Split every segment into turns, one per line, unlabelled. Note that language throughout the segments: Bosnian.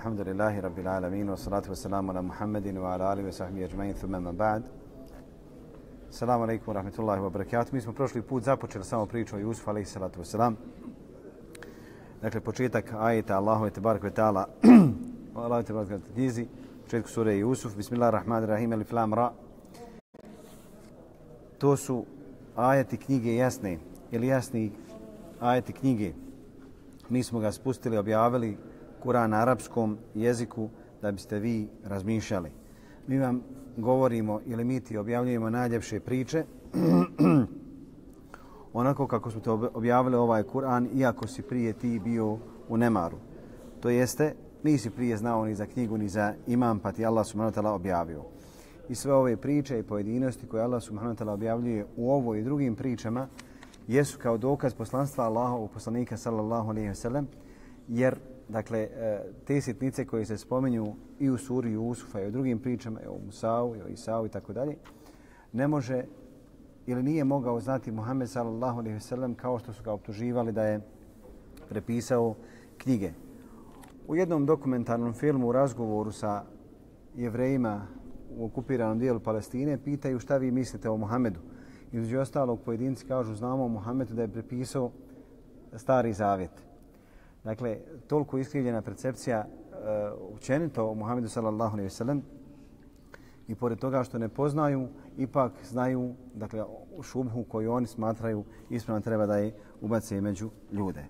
Alhamdulillahi Rabbil Alamin, wa salatu wa salamu ala Muhammedin wa ala alihi wa sahbihi ajma'in, thumma ma ba'd. Assalamu alaikum wa rahmatullahi wa barakatuh. Mi smo prošli put započeli samo priču o Jusufu alaihi salatu wa salam. Dakle, početak ajeta Allahu tebarek ve ta'ala, Allahu tebarek ve ta'ala knjizi, početku sure Jusuf, Bismillahirrahmanirrahim, Alif Lam Ra. To su ajeti knjige jasne, ili jasni ajeti knjige. Mi smo ga spustili, objavili Kur'an na arapskom jeziku da biste vi razmišljali. Mi vam govorimo ili mi ti objavljujemo najljepše priče onako kako smo to objavili ovaj Kur'an, iako si prije ti bio u nemaru. To jeste, nisi prije znao ni za knjigu ni za imam, pa ti Allah subhanahu wa ta'ala objavio. I sve ove priče i pojedinosti koje Allah subhanahu wa ta'ala objavljuje u ovoj i drugim pričama jesu kao dokaz poslanstva Allahovog poslanika sallallahu alejhi ve sellem, jer dakle te sitnice koje se spominju i u suri Jusufa i u drugim pričama, i o Musau, i o Isau i tako dalje, ne može ili nije mogao znati Muhammed sallallahu alejhi ve sellem kao što su ga optuživali da je prepisao knjige. U jednom dokumentarnom filmu u razgovoru sa Jevrejima u okupiranom dijelu Palestine pitaju šta vi mislite o Muhammedu. Između ostalog pojedinci kažu znamo o Muhammedu da je prepisao Stari Zavjet. Dakle, toliko iskrivljena percepcija učenito o Muhammedu sallallahu alejhi ve sellem i pored toga što ne poznaju, ipak znaju dakle, šubhu koju oni smatraju ispravno treba da je ubace među ljude.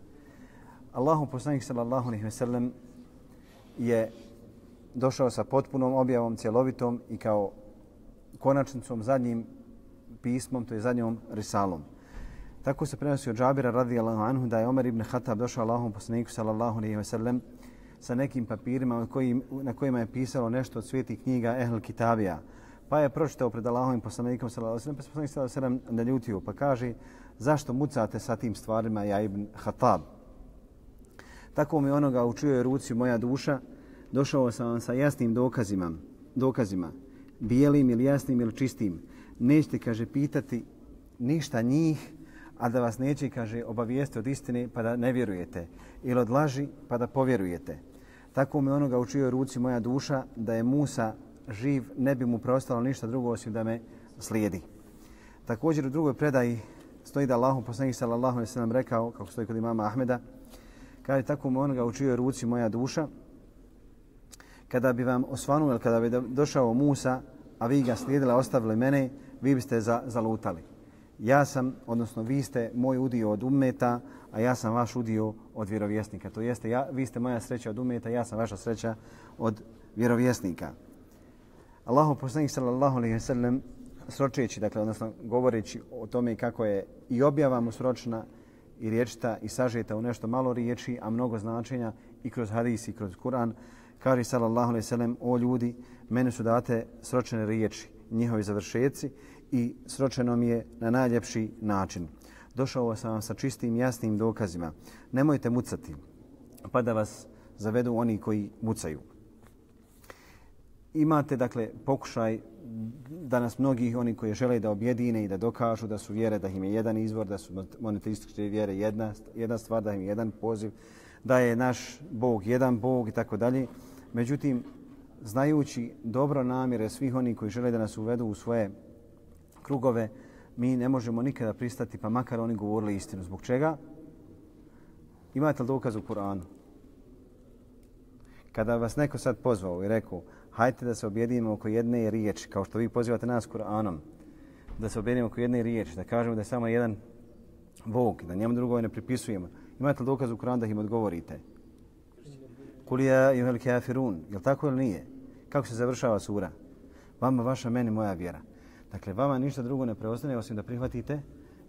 Allahu poslanik sallallahu alejhi ve sellem je došao sa potpunom objavom, cjelovitom i kao konačnicom zadnjim pismom, to je zadnjom risalom. Tako se prenosi od Džabira radijallahu anhu da je Omer ibn Khattab došao Allahom poslaniku sallallahu alejhi ve sellem sa nekim papirima na kojima je pisalo nešto od svetih knjiga Ehl Kitabija. Pa je pročitao pred Allahovim poslanikom sallallahu alejhi ve sellem, pa se poslanik sallallahu alejhi ve sellem naljutio, pa kaže zašto mucate sa tim stvarima ja ibn Khattab? Tako mi onoga u čijoj ruci moja duša, došao sam vam sa jasnim dokazima, bijelim ili jasnim ili čistim. Nećete, kaže, pitati ništa njih, a da vas neće, kaže, obavijesti od istine pa da ne vjerujete ili od laži pa da povjerujete. Tako mi onoga u čijoj ruci moja duša, da je Musa živ, ne bi mu preostalo ništa drugo osim da me slijedi. Također u drugoj predaji stoji da Allahu poslanik sallallahu alejhi ve sellem rekao, kako stoji kod imama Ahmeda, kaže tako mi onoga u čijoj ruci moja duša, kada bi vam osvanuo ili kada bi došao Musa, a vi ga slijedili, ostavili mene, vi biste zalutali. Ja sam, odnosno vi ste moj udio od ummeta, a ja sam vaš udio od vjerovjesnika. To jeste, vi ste moja sreća od ummeta, ja sam vaša sreća od vjerovjesnika. Allahu poslanik sallallahu alejhi ve sellem sročeći, dakle, odnosno govoreći o tome kako je i objava mu sročna i riječita i sažeta u nešto malo riječi, a mnogo značenja i kroz hadis i kroz Kur'an, kaže sallallahu alejhi ve sellem, o ljudi, meni su date sročene riječi, njihovi završeci i sročeno mi je na najljepši način. Došao sam vam sa čistim, jasnim dokazima. Nemojte mucati, pa da vas zavedu oni koji mucaju. Imate, dakle, pokušaj danas mnogih oni koji žele da objedine i da dokažu da su vjere, da im je jedan izvor, da su monoteističke vjere jedna stvar, da im je jedan poziv, da je naš Bog jedan Bog i tako dalje. Međutim, znajući dobro namjere svih oni koji žele da nas uvedu u svoje krugove, mi ne možemo nikada pristati, pa makar oni govorili istinu. Zbog čega? Imate li dokaz u Kur'anu? Kada vas neko sad pozvao i rekao, hajte da se objedinimo oko jedne riječi, kao što vi pozivate nas Kur'anom, da se objedinimo oko jedne riječi, da kažemo da je samo jedan Bog, da njemu drugove ne pripisujemo. Imate li dokaz u Kur'anu da im odgovorite? Kul ja eyyuhal kafirun. Jel tako ili nije? Kako se završava sura? Vama vaša, meni moja vjera. Dakle, vama ništa drugo ne preostane osim da prihvatite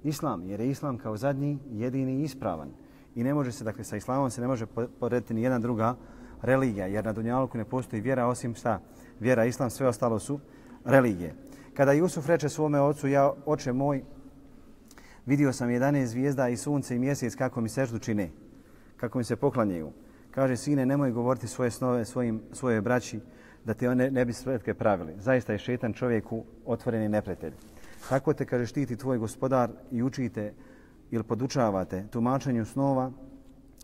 islam, jer je islam kao zadnji, jedini ispravan. I ne može se, dakle, sa islamom se ne može porediti ni jedna druga religija, jer na dunjaluku ne postoji vjera osim šta? Vjera, islam, sve ostalo su religije. Kada Jusuf reče svome ocu, ja, oče moj, vidio sam 11 zvijezda i sunce i mjesec kako mi seždu čine, kako mi se poklanjaju. Kaže, sine, nemoj govoriti svoje snove svoje braći, da te one ne bi spletke pravili. Zaista je šetan čovjeku otvoreni neprijatelj. Tako te, kaže, štiti tvoj gospodar i učite ili podučavate tumačenju snova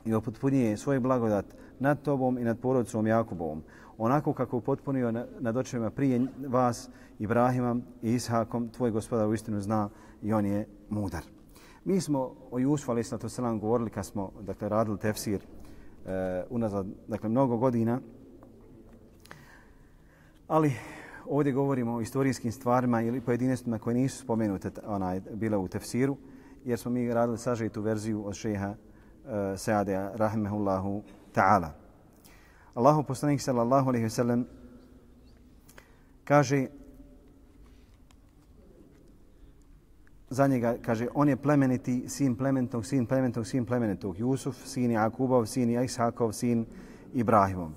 i upotpunjuje svoj blagodat nad tobom i nad porodicom Jakubovom, onako kako upotpunio nad očevima prije vas Ibrahimom i Ishakom, tvoj gospodar uistinu zna i on je mudar. Mi smo o Jusufu alejhiselatu selam govorili kad smo radili tefsir unazad mnogo godina, ali ovdje govorimo o istorijskim stvarima ili pojedinostima koje nisu spomenute bile u tefsiru, jer smo mi radili sažetu verziju od šeha Saadija rahimehullahu ta'ala. Allahu poslanik sallallahu alejhi ve sellem kaže za njega, kaže, on je plemeniti sin plemenitog, sin plemenitog, sin plemenitog. Jusuf, sin Jakubov, sin Ishakov, sin Ibrahimov.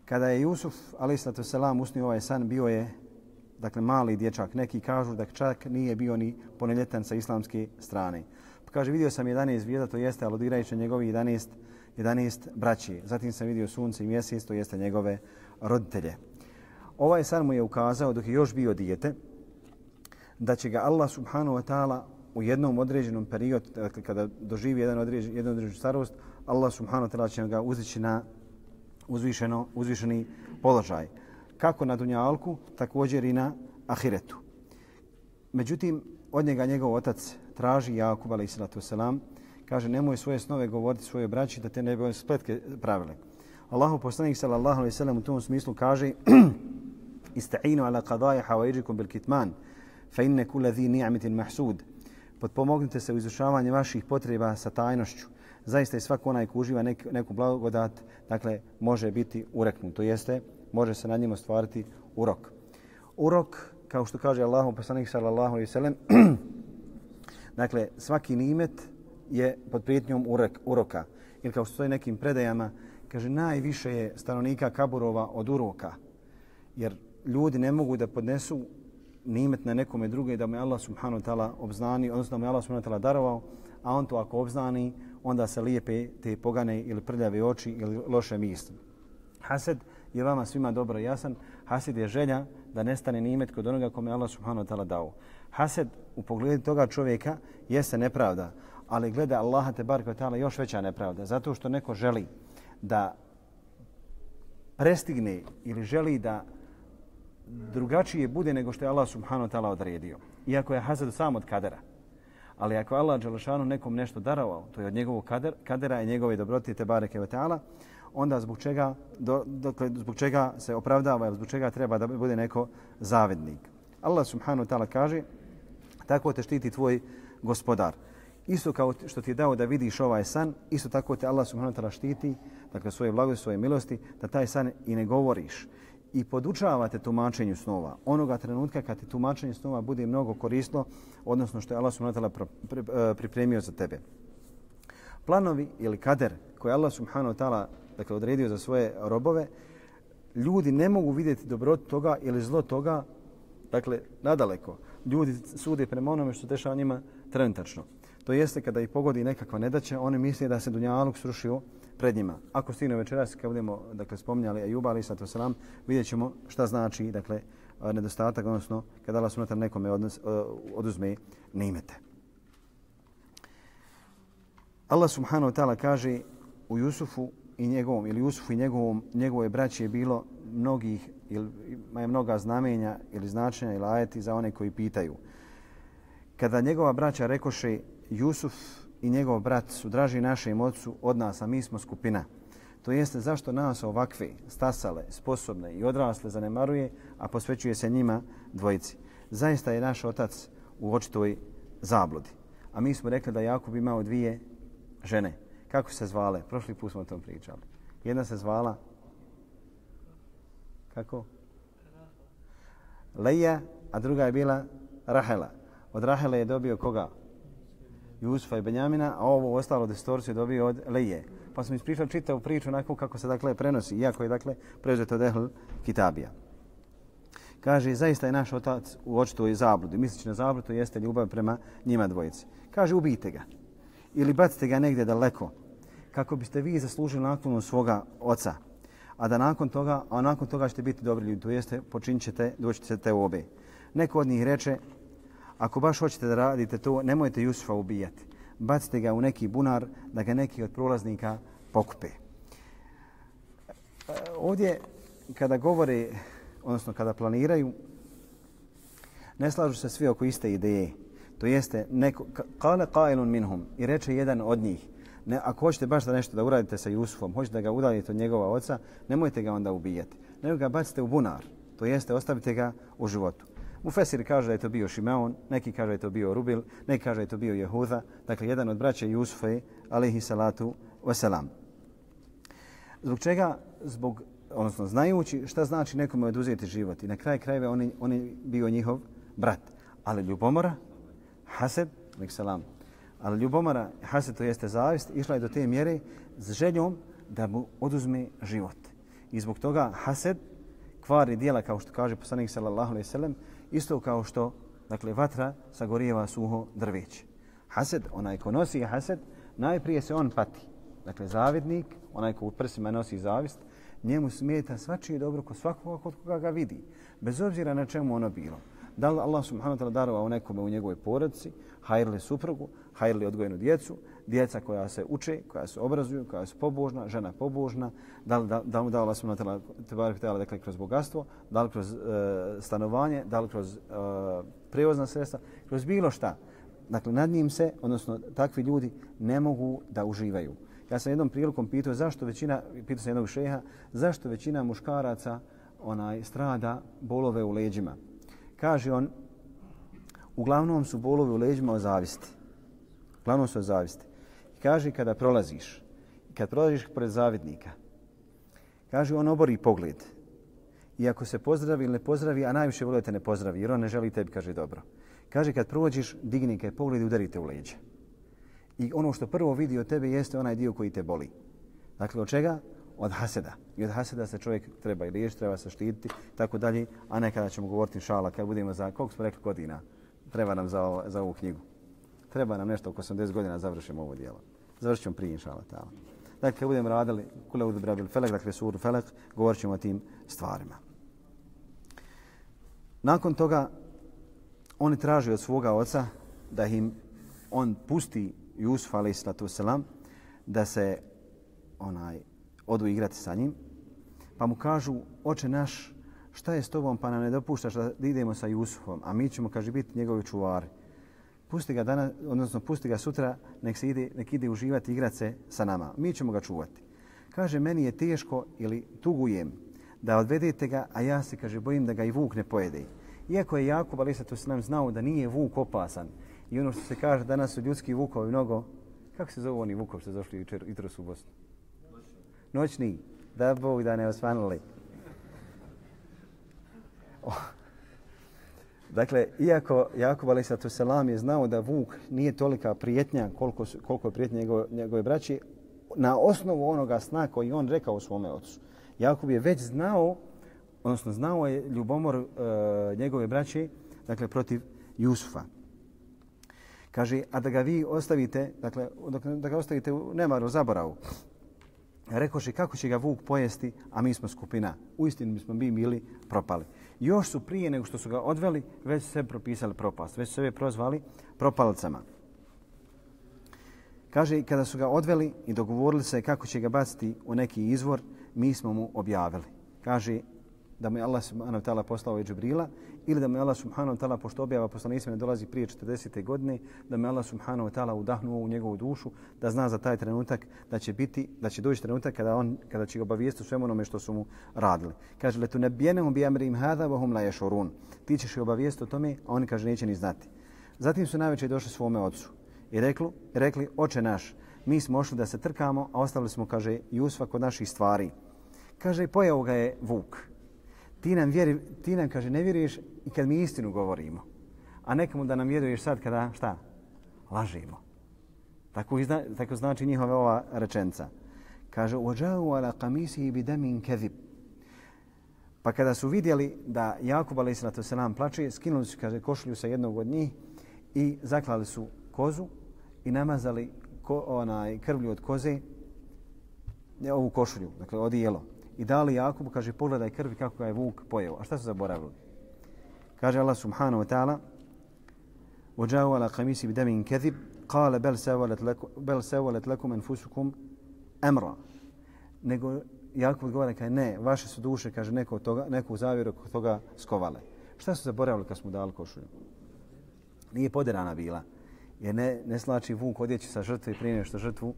Kada je Jusuf, alejhiselatu selam, usnio ovaj san, bio je mali dječak. Neki kažu da čak nije bio ni punoljetan sa islamske strane. Pa kaže, vidio sam 11 zvijezda, to jeste aludirajući na njegovi 11 braći. Zatim sam vidio sunce i mjesec, to jeste njegove roditelje. Ovaj san mu je ukazao, dok je još bio dijete, da će ga Allah subhanahu wa ta'ala u jednom određenom periodu, kada doživi jednu određenu starost, Allah subhanahu wa ta'ala će ga uzdići na uzvišeni položaj. Kako na dunjalku, također i na ahiretu. Međutim, od njega njegov otac traži, Jakub alejhiselatu selam, kaže, nemoj svoje snove govoriti svojoj braći da te ne bi spletke pravile. Allahu poslanik sallallahu alejhi ve sellem u tom smislu kaže: Ista'inu ala qada'i hawaijikum bil kitman, fa inna kulla dhi ni'matin mahsud. Potpomognite se u izvršavanju vaših potreba sa tajnošću. Zaista i svako onaj ko uživa neku blagodat, može biti ureknut. To jeste, može se nad njim ostvariti urok. Urok, kao što kaže Allahu poslanik sallallahu alejhi ve sellem, svaki nimet je pod prijetnjom uroka. Ili kao što stoji nekim predajama, kaže, najviše je stanovnika kaburova od uroka. Jer ljudi ne mogu da podnesu nimet na nekome druge da mu je Allah subhanahu wa ta'ala obznani, odnosno da mu je Allah subhanahu wa ta'ala darovao, a on to ako obznani, onda se lijepe te pogane ili prljave oči ili loše misli. Hased je vama svima dobro jasan. Hased je želja da nestane nimet kod onoga kome je Allah subhanahu wa ta'ala dao. Hased u pogledu toga čovjeka jeste nepravda, ali gleda Allaha tebareke ve ta'ala još veća nepravda. Zato što neko želi da prestigne ili želi da drugačije bude nego što je Allah subhanahu wa ta'ala odredio. Iako je hased sam od kadera. Ali ako Allah dželešanu nekom nešto darovao, to je od njegovog kadera i njegove dobrote tebareke ve ta'ala, onda zbog čega se opravdava ili zbog čega treba da bude neko zavidnik. Allah subhanahu wa ta'ala kaže: tako te štiti tvoj gospodar. Isto kao što ti je dao da vidiš ovaj san, isto tako te Allah subhanahu wa ta'ala štiti, svoje blagosti, svoje milosti, da taj san i ne govoriš. I podučavate tumačenju snova. Onoga trenutka kad ti tumačenje snova bude mnogo korisno, odnosno što je Allah subhanahu wa ta'ala pripremio za tebe. Planovi ili kader koje Allah subhanahu wa ta'ala odredio za svoje robove, ljudi ne mogu vidjeti dobrotu toga ili zlo toga, nadaleko. Ljudi sude prema onome što se dešava njima trenutačno. To jeste kada ih pogodi nekakva nedaća, oni misle da se dunjaluk srušio pred njima. Ako stigne večeras, kad budemo spominjali Ajuba alejhiselatu selam, vidjet ćemo šta znači nedostatak, odnosno kada Allah subhanahu wa ta'ala nekome oduzme nimete. Allah subhanahu wa ta'ala kaže u Jusufu i njegovoj braći je bilo mnoga znamenja ili značenja ili ajeti za one koji pitaju. Kada njegova braća rekoše: Jusuf i njegov brat su draži našem ocu od nas, a mi smo skupina. To jeste, zašto nas ovakve, stasale, sposobne i odrasle zanemaruje, a posvećuje se njima dvojici. Zaista je naš otac u očitoj zabludi. A mi smo rekli da Jakub imao 2 žene. Kako se zvale? Prošli put smo o tom pričali. Jedna se zvala kako? Leja, a druga je bila Rahela. Od Rahele je dobio koga? Jusufa i Benjamina, a ovo ostalo distorciju je dobio od Leje. Pa smo ispričali čitavu priču onako kako se prenosi, iako je preuzeto od Ehl Kitabija. Kaže, zaista je naš otac u očitoj zabludi. Misleći na zabludu jeste ljubav prema njima dvojici. Kaže, ubijte ga ili bacite ga negdje daleko kako biste vi zaslužili naklonu svoga oca. A nakon toga ćete biti dobri ljudi, to jeste počinit ćete, doći ćete u obe. Neko od njih reče: ako baš hoćete da radite to, nemojte Jusufa ubijati. Bacite ga u neki bunar da ga neki od prolaznika pokupe. Ovdje kada govore, odnosno kada planiraju, ne slažu se svi oko iste ideje. To jeste, kale qailun minhum, i reče jedan od njih, ne, ako hoćete baš da nešto da uradite sa Jusufom, hoćete da ga udaljite od njegova oca, nemojte ga onda ubijati, nego ga bacite u bunar, to jeste, ostavite ga u životu. Mufesiri kaže da je to bio Šimeon, neki kaže da je to bio Rubil, neki kaže da je to bio Jehuda, dakle jedan od braće Jusufa, alejhi salatu wasalam. Zbog čega? Odnosno znajući šta znači nekome oduzeti život. I na kraj krajeva on je bio njihov brat. Ali ljubomora, hased, ali ljubomora, hased, to jeste zavist, išla je do te mjere s željom da mu oduzme život. I zbog toga hased kvari dijela, kao što kaže poslanik sallallahu alejhi ve sellem, isto kao što, dakle, vatra sagorijeva suho drveće. Hased, onaj ko nosi hased, najprije se on pati. Dakle, zavidnik, onaj ko u prsima nosi zavist, njemu smeta svačije dobro kod svakoga kod koga ga vidi, bez obzira na čemu ono bilo. Da li Allah subhanahu wa ta'ala darovao nekome u njegovoj porodici, hajrli suprugu, hajrli odgojenu djecu, djeca koja se uče, koja se obrazuju, koja su pobožna, žena pobožna, da li mu dao Allah subhanahu wa ta'ala, dakle, kroz bogatstvo, da li kroz stanovanje, da li kroz prevozna sredstva, kroz bilo šta. Dakle, nad njim se, odnosno takvi ljudi ne mogu da uživaju. Ja sam jednom prilikom pitao pitao sam jednog šeha, zašto većina muškaraca strada bolove u leđima. Kaže on, uglavnom su bolovi u leđima od zavisti. Uglavnom su od zavisti. Kaže, kad prolaziš pored zavidnika, kaže, on obori pogled. I ako se pozdravi ili ne pozdravi, a najviše voli da te ne pozdravi, jer on ne želi tebi, kaže, dobro. Kaže, kad prođeš, digni kaj pogled i udarite u leđa. I ono što prvo vidi od tebe jeste onaj dio koji te boli. Dakle, od čega? Od haseda. I od haseda se čovjek treba i liječiti, treba se štititi, tako dalje. A nekada ćemo govoriti inšala, kad budemo koliko smo rekli godina, treba nam za ovu knjigu. Treba nam nešto oko 80 godina završimo ovo djelo. Završit ćemo prije inšala. Dakle, kad budemo radili kule udu brabil felek, dakle suru felek, govorit ćemo o tim stvarima. Nakon toga, oni traže od svoga oca da im on pusti Jusuf a.s. da se odu igrati sa njim. Pa mu kažu, oče naš, šta je s tobom pa nam ne dopuštaš da idemo sa Jusufom, a mi ćemo, kaže, biti njegovi čuvari. Pusti ga danas, odnosno pusti ga sutra, nek ide uživati i igrati se sa nama. Mi ćemo ga čuvati. Kaže, meni je teško ili tugujem da odvedete ga, a ja se, kaže, bojim da ga i vuk ne pojede. Iako je Jakub a.s. znao da nije vuk opasan i ono što se kaže danas su ljudski vukovi mnogo, kako se zovu oni vukovi što su došli jutros u Bosnu? Noćni. Da Bog da ne osvanuli. Dakle, iako Jakub a.s. je znao da vuk nije tolika prijetnja koliko je prijetnja njegove braći, na osnovu onoga sna koji on rekao svome ocu. Jakub je već znao je ljubomor njegove braće, dakle, protiv Jusufa. Kaže, a da ga vi ostavite, dakle, da ga ostavite u nemaru, zaboravu. Rekoše, kako će ga vuk pojesti, a mi smo skupina. Uistinu bismo bili propali. Još su prije nego što su ga odveli, već su sebe propisali propast. Već su sebe prozvali propalcama. Kaže, kada su ga odveli i dogovorili se kako će ga baciti u neki izvor, mi smo mu objavili. Kaže, da mu je Allah subhanahu wa ta'ala poslao i Džibrila, ili da mu je Allah subhanahu wa ta'ala, pošto objava poslanicima ne dolazi prije 40. godine, da mu je Allah subhanahu wa ta'ala udahnuo u njegovu dušu, da zna za taj trenutak da će doći trenutak kada će ga obavijestiti o svemu onome što su mu radili. Kaže, letunabbijenahum bi amrihim hadha wa hum la yashurun. Ti ćeš ih obavijestiti o tome, a oni, kaže, neće ni znati. Zatim su najveće došli svome ocu i rekli, oče naš, mi smo ošli da se trkamo, a ostavili smo, kaže, Jusufa kod naših stvari. Kaže, pojeo ga je vuk. Ti nam, kaže, ne vjeruješ i kad mi istinu govorimo. A nekому da nam vjeruješ sad kada, šta? Lažimo. Tako znači njihova ova rečenca. Kaže, وَجَاءُوا عَلَى قَمِيسِهِ بِدَمٍ كَذِبٍ. Pa kada su vidjeli da Jakub a.s. plače, skinuli su, kaže, košulju sa jednog od njih i zaklali su kozu i namazali krvlju od koze ovu košulju, dakle odijelo. I dali Jakubu, kaže, pogledaj krvi kako ga je vuk pojeo. A šta su zaboravili? Kaže Allah subhanahu wa ta'ala, وَجَاءُوا عَلَى قَمِيسِهِ بِدَمٍ كَذِبٍ قَالَ بَلْ سَوَّلَتْ لَكُمْ أَنفُسُكُمْ أَمْرًا. Nego Jakub odgovara, kaže ne, vaše su duše, kaže neku zavjeru oko toga skovale. Šta su zaboravili kad smo dali košulju? Nije poderana bila. Jer ne slači vuk odjeći sa žrtve prije nego što žrtvu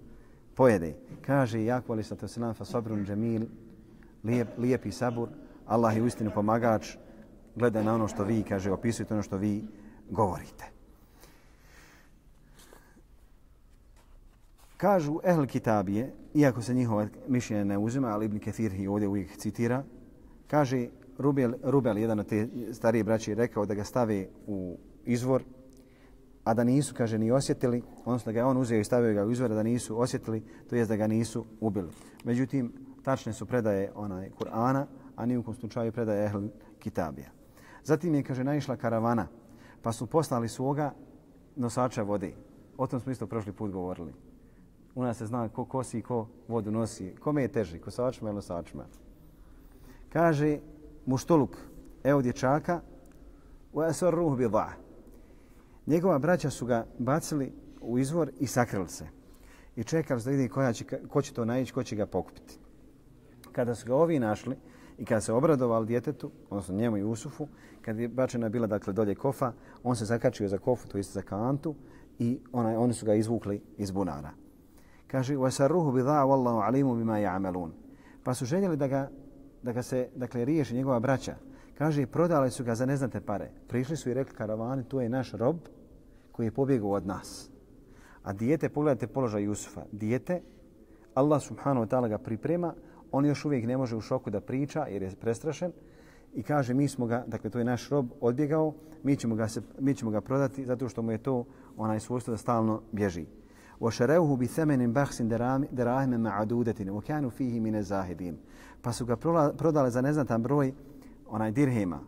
pojede. Kaže Jakub alejhi salatu vesselam fa sabrun džemil, lijepi sabur, Allah je uistinu pomagač, gleda na ono što vi, kaže, opisujete ono što vi govorite. Kažu ehl kitabije, iako se njihova mišljenja ne uzima, ali Ibn Kathir ih ovdje uvijek citira, kaže Rubel, jedan od te starije braće, rekao da ga stave u izvor, a da nisu, kaže, ni osjetili, odnosno da ga on uzeo i stavio ga u izvor, da nisu osjetili, to jest da ga nisu ubili. Međutim, tačne su predaje Kur'ana, a ni u kom slučaju predaje ehl kitabija. Zatim je, kaže, naišla karavana, pa su poslali svoga nosača vode. O tom smo isto prošli put govorili. U nas se zna ko kosi i ko vodu nosi. Kome je teži, kosačima ili nosačima? Kaže Muštuluk, evo dječaka, وَأَسَرُّهُ بِضَعَ. Njegova braća su ga bacili u izvor i sakrili se. I čekali da vidi ko će to naići, ko će ga pokupiti. Kada su ga ovi našli i kada se obradovali djetetu, odnosno njemu i Jusufu, kad je bačena bila dakle dolje kofa, on se zakačio za kofu, to jest za kantu, i oni su ga izvukli iz bunara. Kaže وَسَرُّهُ بِضَعَ وَاللَّهُ عَلِيمُ بِمَا يَعْمَلُونَ. Pa su željeli da ga se dakle riješi njegova braća. Kaže, prodali su ga za neznate pare. Prišli su i rekli karavani, to je naš rob koji je pobjegao od nas. A dijete, pogledajte položaj Jusufa. Dijete, Allah subhanahu wa ta'ala ga priprema, on još uvijek ne može u šoku da priča jer je prestrašen i kaže mi smo ga, dakle to je naš rob, odbjegao, mi ćemo ga prodati zato što mu je to onaj svojstvo da stalno bježi. وَشَرَوْهُ بِثَمَنٍ بَخْسٍ دَرَاهِمَ مَعَدُودَةٍ وَكَانُوا فِيهِ مِنَ الزَّاهِدِينَ. Pa su ga prodali za neznatan broj dirhema,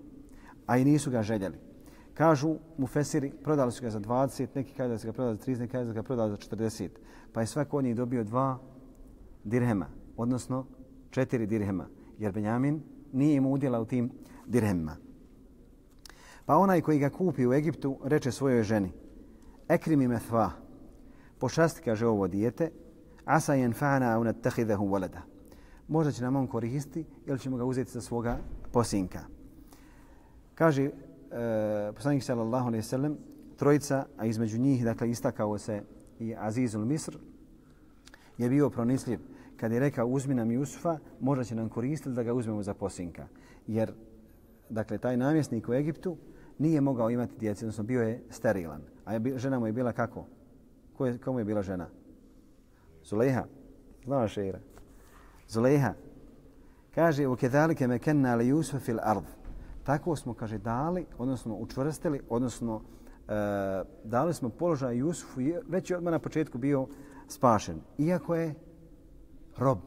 a i nisu ga željeli. Kažu mufesiri, prodali su ga za 20, neki kažu da su ga prodali za 30, neki kažu da su ga prodali za 40. Pa je svako od njih dobio 2 dirhema, odnosno 4 dirhema, jer Benjamin nije imao udjela u tim dirhemima. Pa onaj koji ga kupi u Egiptu reče svojoj ženi, ekrimi methva, pošasti, kaže, ovo dijete, asa yanfa'ana aw nattakhidahu walada. Možda će nam on koristiti ili ćemo ga uzeti za svoga posinka. Kaže poslanik sallallahu alejhi ve sellem, trojica, a između njih dakle istakao se i Azizul Misr, je bio pronicljiv. Kad je rekao uzmi nam Jusufa, možda će nam koristiti da ga uzmemo za posinka. Jer dakle taj namjesnik u Egiptu nije mogao imati djece, odnosno bio je sterilan. A žena mu je bila kako? Komu je bila žena? Zulejha. Znao šeira. Zulejha. Kaže, وَكَذَلِكَ مَكَنَّا لِيُوسُفَ فِي الْأَرْضِ. Tako smo, kaže, dali, odnosno učvrstili, odnosno dali smo položaj Jusufu, već je odmah na početku bio spašen. Iako je rob.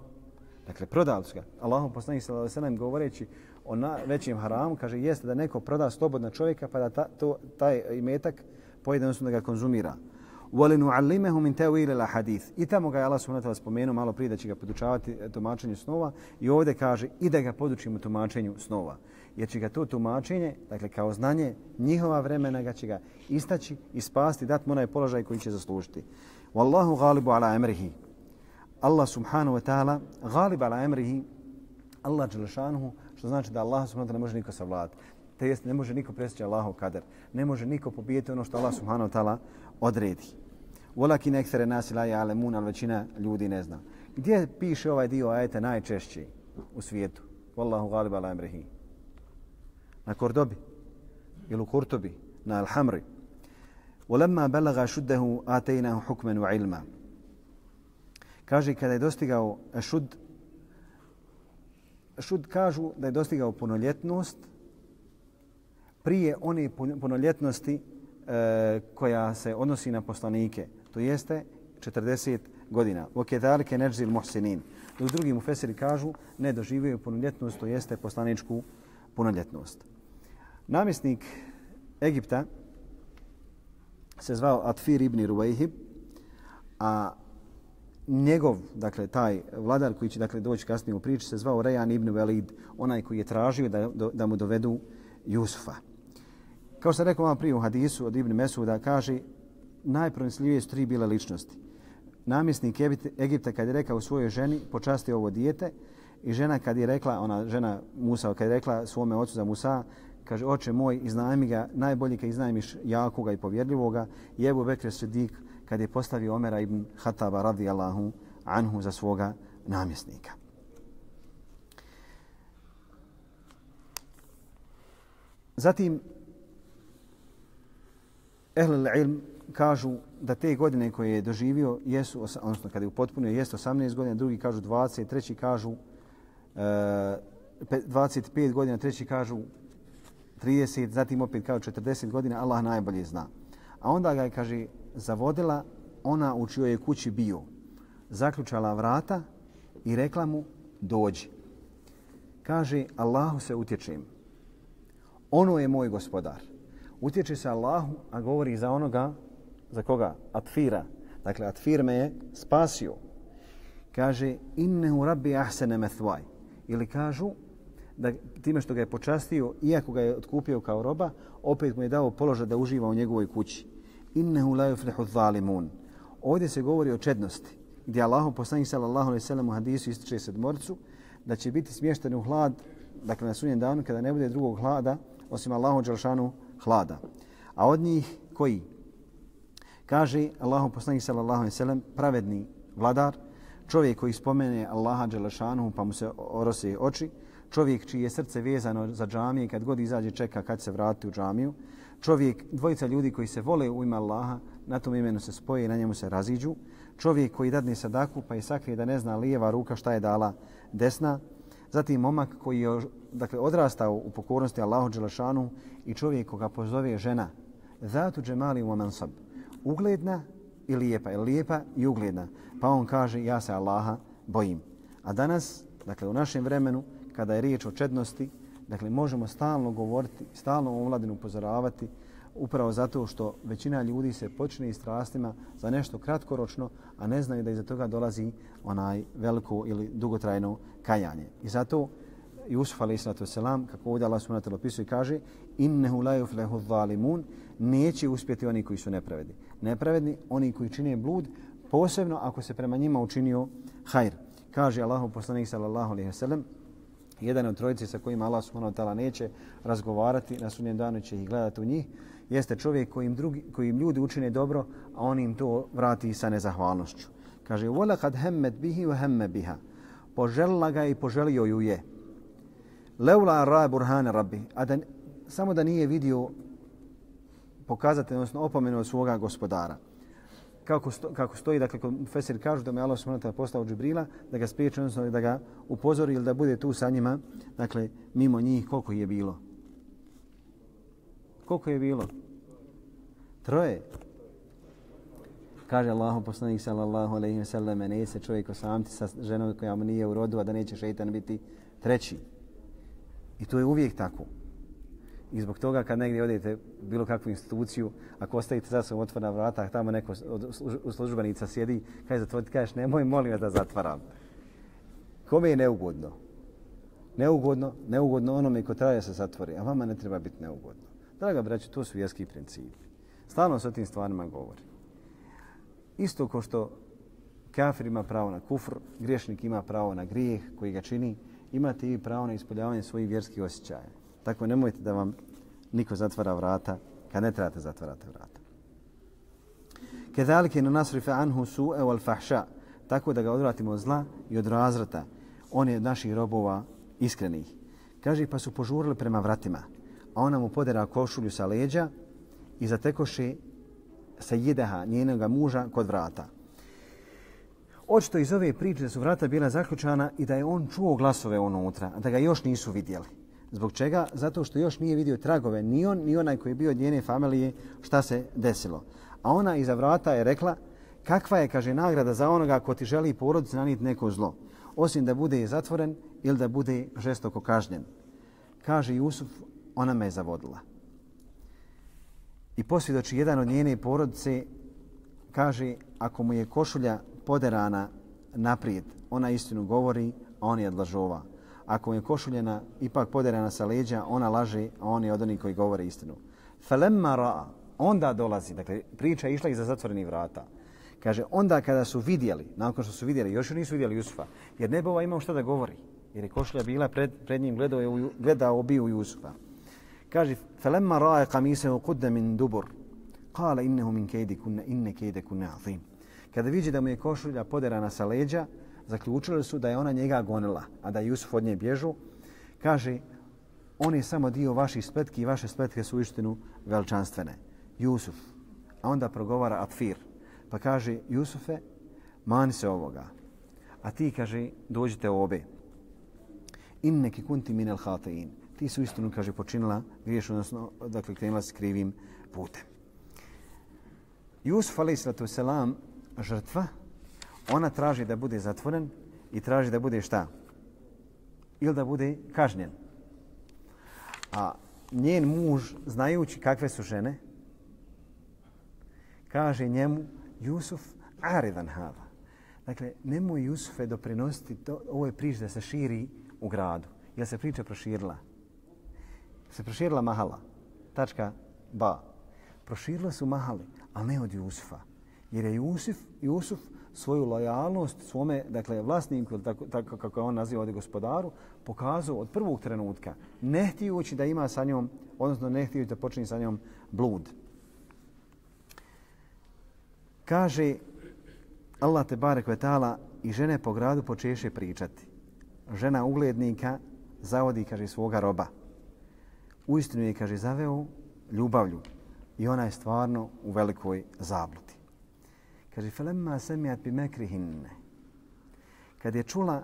Dakle, prodali su ga. Allahom poslanik sallallahu alejhi ve sellem govoreći o većem haramu, kaže, jeste da neko proda slobodna čovjeka pa da taj imetak pojede, odnosno da ga konzumira. وَلِنُعَلِّمَهُ مِنْ تَوِيلِ الْحَدِيثِ. I tamo ga je Allah subhanahu wa ta'ala spomenuo malo prije da će ga podučavati tumačenju snova i ovdje kaže i da ga podučimo tumačenju snova. Jer će ga to tumačenje, dakle kao znanje njihova vremena, ga će ga istaći i spasti, dati mu onaj položaj koji će zaslužiti. Wallahu ghalibu ala amrihi. Allah subhanahu wa ta'ala ghalib ala amrihi, Allah dželešanuhu, što znači da Allah subhanahu wa ta'ala ne može niko savladati. To jest ne može niko presjeći Allahov kader. Ne može niko pobijeti ono što Allah subhanahu wa ta'ala odredi. Walakin ekthara nasi la ya'lamun, al većina ljudi ne zna. Gdje piše ovaj dio ajeta najčešće u svijetu? Wallahu ghalib ala amrihi. Na Kordobi ili u Kurtubi, na Al-Hamri. وَلَمَّا بَلَغَ شُدَّهُ آتَيْنَهُ حُكْمًا وَعِلْمًا. Kaže, kada je dostigao šud kažu da je dostigao punoljetnost prije one punoljetnosti koja se odnosi na poslanike, to jeste 40 godina. وَكَذَلِكَ نَجْزِي الْمُحْسِنِينَ. Dok drugi mufesiri kažu ne doživio punoljetnost, to jeste poslaničku punoljetnost. Namjesnik Egipta se zvao Atfir ibn Ruwayhib, a njegov, dakle taj vladar koji će dakle doći kasnije u priči, se zvao Rejan ibn Velid, onaj koji je tražio da mu dovedu Jusufa. Kao što sam rekao vam prije u hadisu od Ibn Mesuda, kaže najpronicljivije su 3 bile ličnosti. Namjesnik Egipta kad je rekao svojoj ženi počasti ovo dijete I žena kad je rekla, ona žena Musa, kad je rekla svome ocu za Musa, kaže, oče moj, iznajmi ga, najbolji kad iznajmiš jakoga i povjerljivoga, i Ebu Bekr Sidik kad je postavio Omera ibn Hataba radijallahu anhu za svoga namjesnika. Zatim, ehlul ilm kažu da te godine koje je doživio jesu, odnosno kada je upotpunio, jest 18 godina, drugi kažu 20, treći kažu 25 godina, treći kažu 30, zatim opet kažu 40 godina, Allah najbolje zna. A onda ga je, kaže, zavodila ona u čijoj je kući bio, zaključala vrata i rekla mu, dođi. Kaže, Allahu se utječem. Ono je moj gospodar. Utječe se Allahu, a govori za onoga, za koga? Atfira. Dakle, Atfir me je spasio. Kaže, innehu rabbi ahsene methvaj. Ili kažu, da time što ga je počastio, iako ga je otkupio kao roba, opet mu je dao položaj da uživa u njegovoj kući. Innehu la yuflihu zalimun. Ovdje se govori o čednosti, gdje Allahu poslanik sallallahu alejhi ve sellem u hadisu ističe sedmorcu da će biti smješteni u hlad, dakle na sudnjem danu kada ne bude drugog hlada osim Allahu dželšanu hlada. A od njih koji? Kaže Allahu poslanik sallallahu alejhi ve sellem, pravedni vladar, čovjek koji spomene Allaha dželšanu pa mu se orose oči, čovjek čije je srce vezano za džamije, kad god izađe čeka kad se vrati u džamiju, čovjek, dvojica ljudi koji se vole u ime Allaha, na tom imenu se spoje i na njemu se raziđu, čovjek koji dadne sadaku pa je sakrije da ne zna lijeva ruka šta je dala desna, zatim momak koji je odrastao u pokornosti Allahu dželešanu i čovjek koga pozove žena, zatu džemali wa mansab, ugledna i lijepa, lijepa i ugledna, pa on kaže ja se Allaha bojim. A danas, dakle u našem vremenu, kada je riječ o čednosti, dakle možemo stalno govoriti, stalno omladinu upozoravati, upravo zato što većina ljudi se počne i strastima za nešto kratkoročno, a ne znaju da iza toga dolazi onaj veliko ili dugotrajno kajanje. I zato Jusuf a.s. kako ovdje Allah subhanahu wa ta'ala opisuje, kaže innehu la yuflihu zalimun, neće uspjeti oni koji su nepravedni. Nepravedni, oni koji čine blud, posebno ako se prema njima učinio hajr. Kaže Allahu poslanik sallallahu alejhi ve sellem, jedan od trojice sa kojima Allah subhanahu wa ta'ala neće razgovarati, na sudnjem danu će ih gledati u njih, jeste čovjek kojim ljudi učine dobro, a on im to vrati sa nezahvalnošću. Kaže, وَلَقَدْ هَمَّتْ بِهِ وَهَمَّ بِهَا. Poželila ga i poželio ju je. لَوْلَا رَا بُرْهَانَ رَبِّ. A da, samo da nije vidio pokazatelj, odnosno opomenu od svoga gospodara. Kako stoji, dakle, Fesir kažu da me Allah subhanahu wa ta'ala poslao Džibrila, da ga spriječi, odnosno da ga upozori ili da bude tu sa njima, dakle, mimo njih, koliko je bilo? Koliko je bilo? 3. Kaže Allahu poslanik sallallahu alejhi ve sellem, ne se čovjek osamiti sa ženom koja mu nije u rodu, a da neće šejtan biti 3. I to je uvijek tako. I zbog toga kad negdje odete u bilo kakvu instituciju, ako ostavite za sobom otvorena vrata, tamo neko od službenica sjedi, kaže zatvoriti, kažeš nemoj molim vas da zatvaram. Kome je neugodno? Neugodno onome ko traje se zatvori, a vama ne treba biti neugodno. Draga braćo, to su vjerski principi. Stalno se o tim stvarima govori. Isto kao što kafir ima pravo na kufr, griješnik ima pravo na grijeh koji ga čini, imate i pravo na ispoljavanje svojih vjerskih osjećaja. Tako nemojte da vam niko zatvara vrata kad ne trebate zatvarati vrata. Kedalike no nasrife anhu su'e wal fahša, tako da ga odvratimo od zla i od razvrata. On je naših robova iskrenih. Kaže, pa su požurili prema vratima, a ona mu podera košulju sa leđa i zatekoše Sejideha, njenog muža, kod vrata. Očito iz ove priče da su vrata bila zaključana i da je on čuo glasove unutra, a da ga još nisu vidjeli. Zbog čega? Zato što još nije vidio tragove, ni on, ni onaj koji je bio od njene familije, šta se desilo. A ona iza vrata je rekla, kakva je, kaže, nagrada za onoga ko ti želi porodici nanijeti neko zlo, osim da bude zatvoren ili da bude žestoko kažnjen. Kaže Jusuf, ona me je zavodila. I posvjedoči jedan od njene porodice, kaže, ako mu je košulja poderana naprijed, ona istinu govori, a on je od lažova. Ako mu je košuljena ipak poderana sa leđa, ona laže, a on je od onih koji govore istinu. Falemma ra'a, onda dolazi, dakle, priča je išla iza zatvorenih vrata. Kaže, onda kada su vidjeli, nakon što su vidjeli, još nisu vidjeli Jusufa, jer ne bi imao šta da govori. jer je košulja bila pred njim, gledao obiju Jusufa. Kaže, فَلَمَّا رَاءَ قَمِيصَهُ قُدَّ مِنْ دُبُرٍ قَالَ إِنَّهُ مِنْ كَيْدِكُنَّ إِنَّ كَيْدَكُنَّ عَظِيمٌ. Kada vidi da mu je košulja poderana sa leđa, zaključili su da je ona njega gonila, a da je Jusuf od nje bježu. Kaže, on je samo dio vaših spletki i vaše spletke su uistinu veličanstvene. Jusuf. A onda progovara Atfir. Pa kaže, Jusufe, mani se ovoga. A ti, kaže, dođite obe. Inneki kunti minel hatein. Ti su istinu, kaže, počinila griješ, odnosno, dakle, krenula s krivim putem. Jusuf, alejhiselatu selam, žrtva, ona traži da bude zatvoren i traži da bude šta? Ili da bude kažnjen. A njen muž, znajući kakve su žene, kaže njemu, Jusuf, aridan hava. Dakle, nemoj Jusufe doprinositi ovoj priči da se širi u gradu. Jer se priča proširila. Se proširila mahala. Tačka ba. Proširila su mahali, ali ne od Jusufa. Jer je Jusuf svoju lojalnost svome, dakle, vlasniku, tako kako je on naziva ovdje gospodaru, pokazao od prvog trenutka, ne htijući da ima sa njom, odnosno ne htijući da počne sa njom blud. Kaže Allah te barek ve taala, i žene po gradu počeše pričati. Žena uglednika zavodi, kaže, svoga roba. Uistinu je, kaže, zaveo ljubavlju i ona je stvarno u velikoj zabludi. Kaže, فَلَمَّا سَمِعَتْ بِمَكْرِهِنَّ. Kad je čula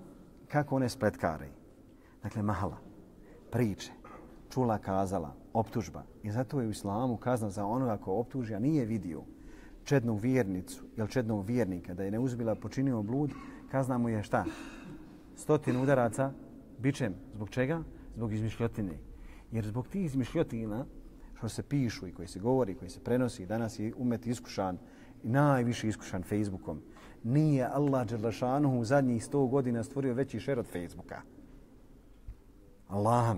kako one spletkare, dakle mahala, priče, čula, kazala, optužba. I zato je u islamu kazna za onoga ko optuži, a nije vidio čednu vjernicu ili čednog vjernika da je neuzbila počinio blud, kazna mu je šta? 100 udaraca bičem. Zbog čega? Zbog izmišljotine. Jer zbog tih izmišljotina što se pišu i koji se govori, koji se prenosi, danas je umet iskušan i najviše iskušan Facebookom. Nije Allah dželle u zadnjih 100 godina stvorio veći šer od Facebooka. Allah.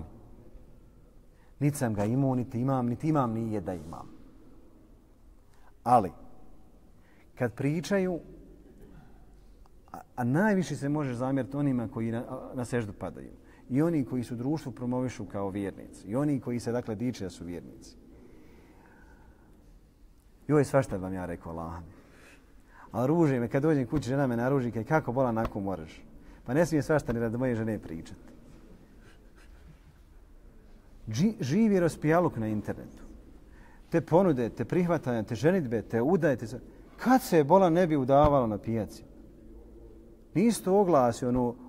Niti sam ga imao, niti imam nije da imam. Ali, kad pričaju, a najviše se može zamjeriti onima koji na seždu padaju. I oni koji su društvu promovišu kao vjernici. I oni koji se, dakle, diče da su vjernici. Joj, svašta vam ja rekao, Allah. Ali ruže me, kad dođem kući, žena me naruži, kaj kako bola nako moraš. Pa ne smije svašta ni radi moje žene pričati. Živi raspijaluk na internetu. Te ponude, te prihvatanja, te ženitbe, te udaje, te... Kad se bola ne bi udavalo na pijaci? Nisto oglasi,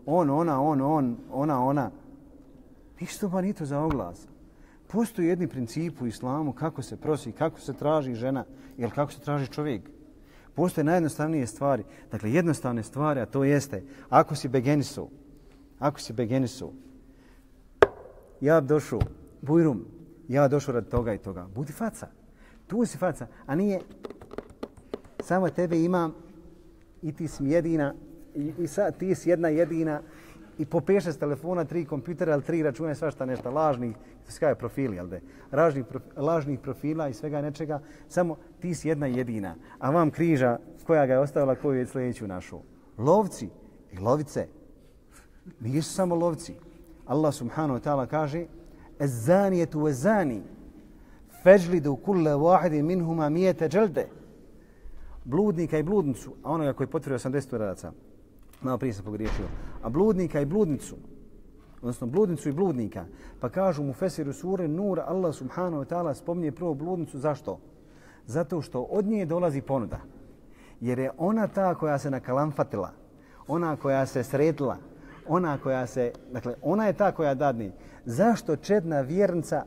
ona. Nisto ba nito za oglas. Postoji jedni princip u islamu kako se prosi, kako se traži žena ili kako se traži čovjek. Postoje najjednostavnije stvari. Dakle, jednostavne stvari, a to jeste, ako si begenisu, ja došao, bujrum, ja došao radi toga i toga. Budi faca. Tu si faca, a nije samo tebe imam i ti si jedina i sad ti si jedna jedina i po 5-6 telefona, 3 kompjutera ili 3 računa, svašta nešto lažnih, skaje profili, jel de? Lažnih profila i svega nečega, samo ti si jedna jedina, a vam križa koja ga je ostavila, koju je sljedeću našu. Lovci i lovice nisu samo lovci. Allah subhanahu wa ta'ala kaže الزانية والزاني فاجلدوا كل واحد منهما 100 جلدة. Bludnika i bludnicu, a onoga koji potvrdio 80 udaraca, malo prije sam pogriješio, a bludnika i bludnicu, odnosno bludnicu i bludnika, pa kažu mu Fesiru sure Nur, Allah subhanahu wa ta'ala spominje prvo bludnicu, zašto? Zato što od nje dolazi ponuda. Jer je ona ta koja se nakalamfatila, ona koja se sredila, dakle, ona je ta koja dadne. Zašto čedna vjernica,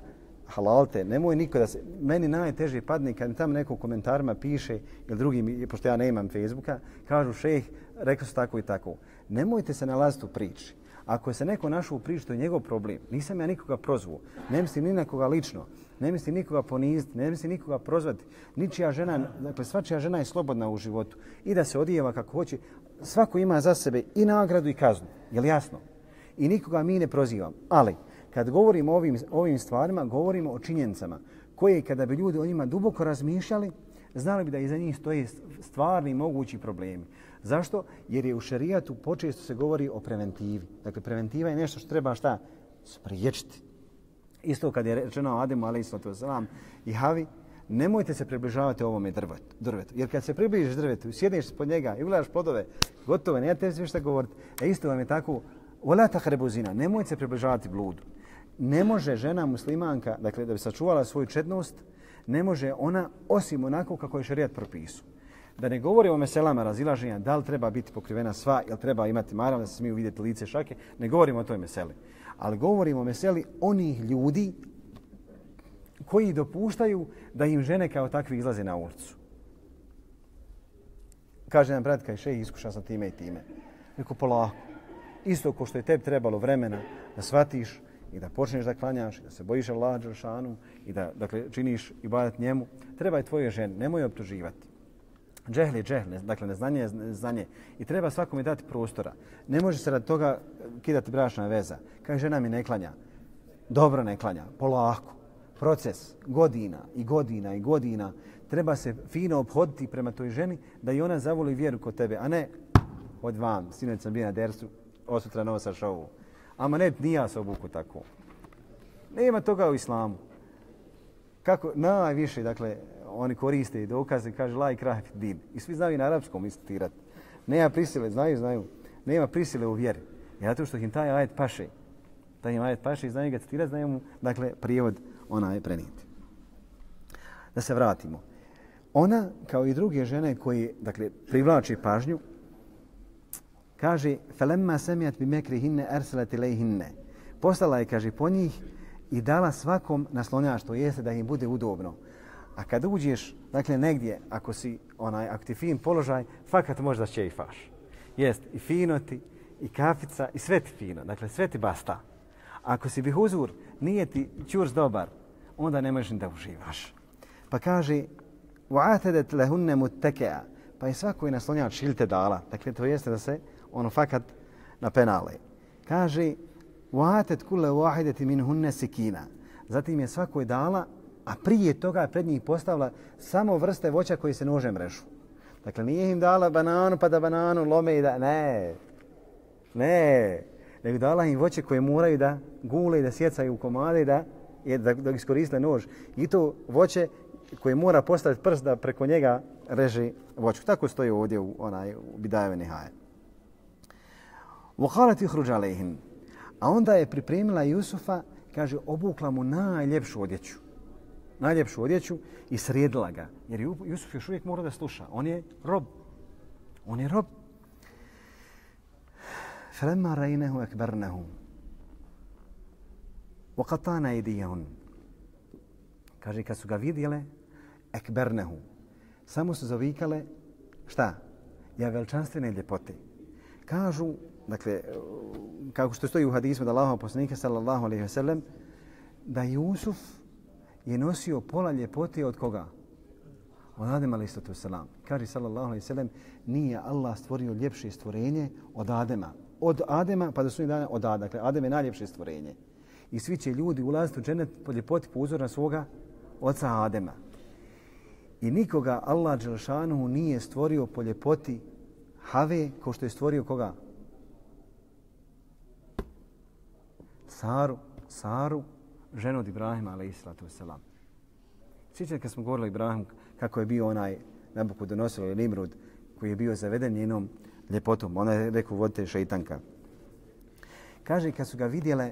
halalte, nemoj niko da se, meni najteže padne kad mi tamo neko u komentarima piše, ili drugi, pošto ja ne imam Facebooka, kažu šejh, rekao su tako i tako. Nemojte se nalaziti u priči. Ako se neko našao u priči, to je njegov problem. Nisam ja nikoga prozvao, ne mislim ni na koga lično, ne mislim nikoga poniziti, ne mislim nikoga prozvati. Ničija žena, dakle svačija žena je slobodna u životu i da se odijeva kako hoće. Svako ima za sebe i nagradu i kaznu, je li jasno? I nikoga mi ne prozivam, ali kad govorimo o ovim stvarima, govorimo o činjenicama koje kada bi ljudi o njima duboko razmišljali, znali bi da iza njih stoje stvarni mogući problemi. Zašto? Jer je u šerijatu počesto se govori o preventivi. Dakle, preventiva je nešto što treba šta? Spriječiti. Isto kad je rečeno Ademu a.s. i Havi, nemojte se približavati ovome drvetu. Jer kad se približiš drvetu, sjedneš pod njega i ugledaš plodove, gotovo, nema te sve šta govoriti. Isto vam je tako, wala taqrabu zina, nemojte se približavati bludu. Ne može žena muslimanka, dakle da bi sačuvala svoju čednost, ne može ona osim onako kako je šerijat propisao. Da ne govorimo o meselama razilaženja, da li treba biti pokrivena sva, ili treba imati marav da se smiju vidjeti lice šake, ne govorimo o toj meseli. Ali govorimo o meseli onih ljudi koji dopuštaju da im žene kao takvi izlaze na ulicu. Kaže nam brat, kaj šejh, iskušao sam time i time. Neko polako. Isto ko što je tebi trebalo vremena da shvatiš i da počneš da klanjaš, da se bojiš Allaha dželešanu i da dakle, činiš ibadet njemu, treba i tvoje žene, nemoj optuživati. Džehl je džehl, dakle neznanje je neznanje i treba svakome dati prostora. Ne može se radi toga kidati bračna veza. Kaže žena mi ne klanja. Dobro ne klanja, polako. Proces godina i godina i godina. Treba se fino obhoditi prema toj ženi da i ona zavoli vjeru kod tebe, a ne od vam, sinoć sam bio na dersu, osutra nosaš ovu. Ama ne, nija se obuku tako. Nema toga u islamu. Kako najviše, dakle, oni koriste i dokaze, kaže la ikrahe fid din. I svi znaju i na arapskom istitirati. Nema prisile, znaju. Nema prisile u vjeri. Zato što im taj ajet paše. Taj im ajet paše i znaju ga citirati, znaju mu, dakle, prijevod onaj prenijeti. Da se vratimo. Ona, kao i druge žene koji, dakle, privlači pažnju, kaže felemma sami'at bi makrihinna arsalat ilayhinna. Poslala je, kaže, po njih i dala svakom naslonjaštvo, jeste da im bude udobno. A kad uđeš, dakle, negdje, ako ti fin položaj, fakat možda ćejfaš. Jest, i fino ti, i kafica, i sve ti fino. Dakle, sve ti basta. Ako si bihuzur, nije ti čurs dobar, onda ne možeš ni da uživaš. Pa kaže, وَعَتَدَتْ لَهُنَّ مُتَّكَا. Pa je svakoj naslonjač šilte dala. Dakle, to jeste da se ono fakat na penale. Kaže, وَعَتَدْ كُلَّ وَاحِدَةِ مِنْهُنَّ سِكِينَ. Zatim je svakoj dala, a prije toga pred njih postavila samo vrste voća koji se nožem režu. Dakle, nije im dala bananu pa da bananu lome i da... Ne. Nego dala im voće koje moraju da gule i da sjecaju u komade i da iskoriste nož. I to voće koje mora postaviti prst da preko njega reže voću. Tako stoji ovdje u Bidajeve Nihaje. وَقَالَتْ يُخْرُجَ عَلَيْهِنْ. A onda je pripremila Jusufa, kaže, obukla mu najljepšu odjeću i sredila ga. Jer Jusuf još uvijek mora da sluša. On je rob. فَلَمَّا رَيْنَهُ أَكْبَرْنَهُ وَقَطَانَ أَيْدِيَهُنْ. Kaže, kad su ga vidjele, ekbernehu. Samo su zavikale, šta? Ja veličanstvene ljepote. Kažu, dakle, kako što stoji u hadisu da Allahov poslanika sallallahu alejhi ve sellem, da Jusuf je nosio pola ljepote od koga? Od Adema alejhi selam. Kaže sallallahu alejhi ve sellem, nije Allah stvorio ljepše stvorenje od Adema. Od Adema pa do sudnjeg dana od Adama. Dakle, Adem je najljepše stvorenje. I svi će ljudi ulaziti u dženet po ljepoti po uzoru na svoga oca Adema. I nikoga Allah dželešanu nije stvorio po ljepoti Have kao što je stvorio koga? Saru, ženu od Ibrahima alejhiselatu vesselam. Sjećate kad smo govorili o Ibrahimu kako je bio onaj Nabukodonosor ili Nimrud koji je bio zaveden njenom ljepotom. Ona je rekao vodite šeitanka. Kaže kad su ga vidjele,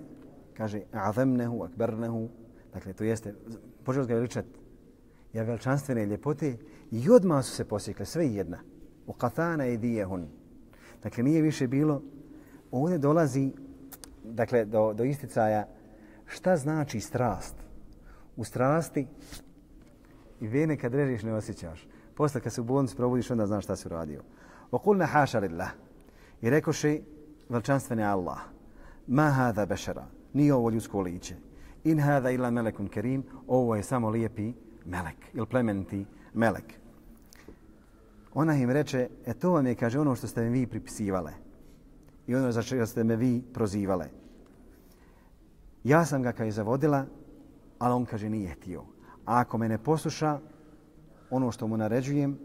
kaže azamnehu akbarnehu, dakle to jeste počeo ga veličati. Ja veličanstvene ljepote i odmah su se posjekle sve jedna. U qatana idijehun. Dakle nije više bilo. Ovdje dolazi dakle do isticaja šta znači strast. U strasti i vene kad režiš ne osjećaš. Posle kad se u bolnici probudiš onda znaš šta si uradio. وَقُلْنَا حَاشَ لِلَّهِ. I rekoše veličanstveni Allah. Ma hada bešara. Nije ovo ljudsko lice. In hada illa melekun kerim. Ovo je samo lijepi melek. Ili plemeniti melek. Ona im reče, to vam je, kaže, ono što ste mi vi pripisivale. I ono za čega ste me vi prozivale. Ja sam ga kaj zavodila, ali on, kaže, nije htio. A ako me ne posluša, ono što mu naređujem,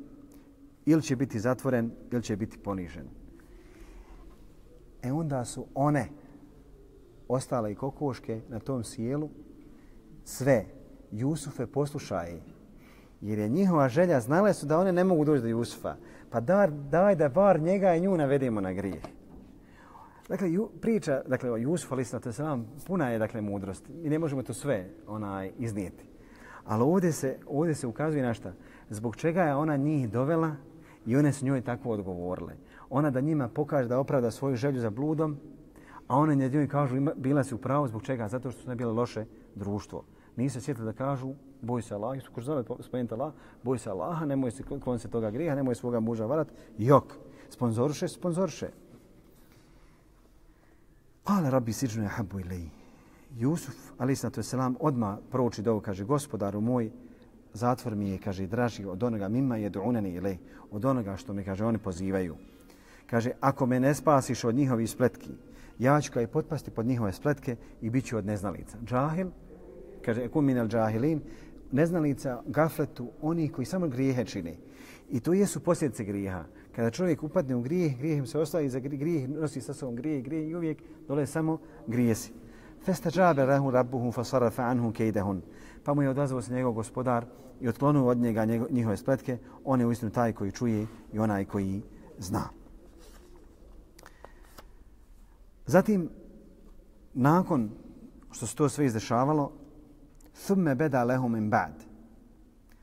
ili će biti zatvoren ili će biti ponižen. Onda su one ostale i kokoške na tom sjelu sve. Jusufe poslušaj, jer je njihova želja, znale su da one ne mogu doći do Jusufa. Pa daj da bar njega i nju navedemo na grijeh. Dakle, priča o Jusufu, ali to se vam puna je mudrosti. Mi ne možemo to sve iznijeti. Ali ovdje se ukazuje na šta? Zbog čega je ona njih dovela i one su njoj tako odgovorile. Ona da njima pokaže da opravda svoju želju za bludom, a one njoj kažu bila si u pravu. Zbog čega? Zato što su ne bile loše društvo. Nisu se sjetili da kažu boj se Allah, ko zove spomenuti Allah, boj se Allaha, nemoj se klon se toga grijeha, nemoj svoga muža varat. Jok, sponzorše. Kale rabbi siđnu ahabbu ilej. Jusuf, alejhi selam, odmah prouči dovu, kaže, gospodaru moj, zatvor mi je, kaže, draži od onoga mimma yed'unani ilej, od onoga što me, kaže, oni pozivaju. Kaže, ako me ne spasiš od njihovih spletki, ja ću potpasti pod njihove spletke i bit ću od neznalica. Džahil, kaže, ekun minel džahilin, neznalica, gafletu, oni koji samo grijehe čine. I to jesu posljedice grijeha. Kada čovjek upadne u grijeh im se ostaje za grijeh, nosi sa sobom grijeh i uvijek dole samo grijesi. Fastajabe lahu rabbuhu fasarafa anhu kaydahun. Pa mu je odazvao se njegov gospodar i otklonio od njega njihove spletke. On je uistinu taj koji čuje i onaj koji zna. Zatim, nakon što se to sve izdešavalo, thumme beda lehum min ba'd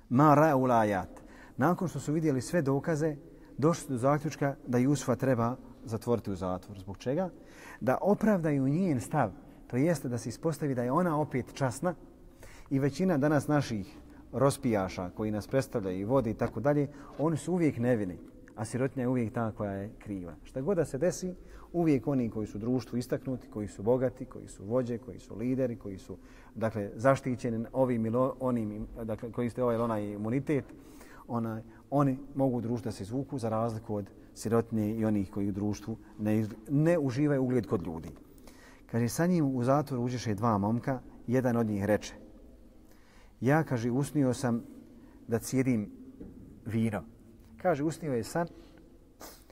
ma ra'u l'ayat. Nakon što su vidjeli sve dokaze, došli su do zaključka da Jusufa treba zatvoriti u zatvor. Zbog čega? Da opravdaju njen stav. To jeste da se ispostavi da je ona opet časna i većina danas naših rospijaša koji nas predstavljaju i vode i tako dalje, oni su uvijek nevini, a sirotinja je uvijek ta koja je kriva. Šta god da se desi, uvijek oni koji su u društvu istaknuti, koji su bogati, koji su vođe, koji su lideri, koji su zaštićeni ovim ili onim, koji ste ovaj ili onaj imunitet, oni mogu u društvu da se izvuku za razliku od sirotinje i onih koji u društvu ne uživaju ugled kod ljudi. Kaže, sa njim u zatvor uđeše dva momka, jedan od njih reče, ja, kaže, usnio sam da cijedim vino. Kaže, usnio je san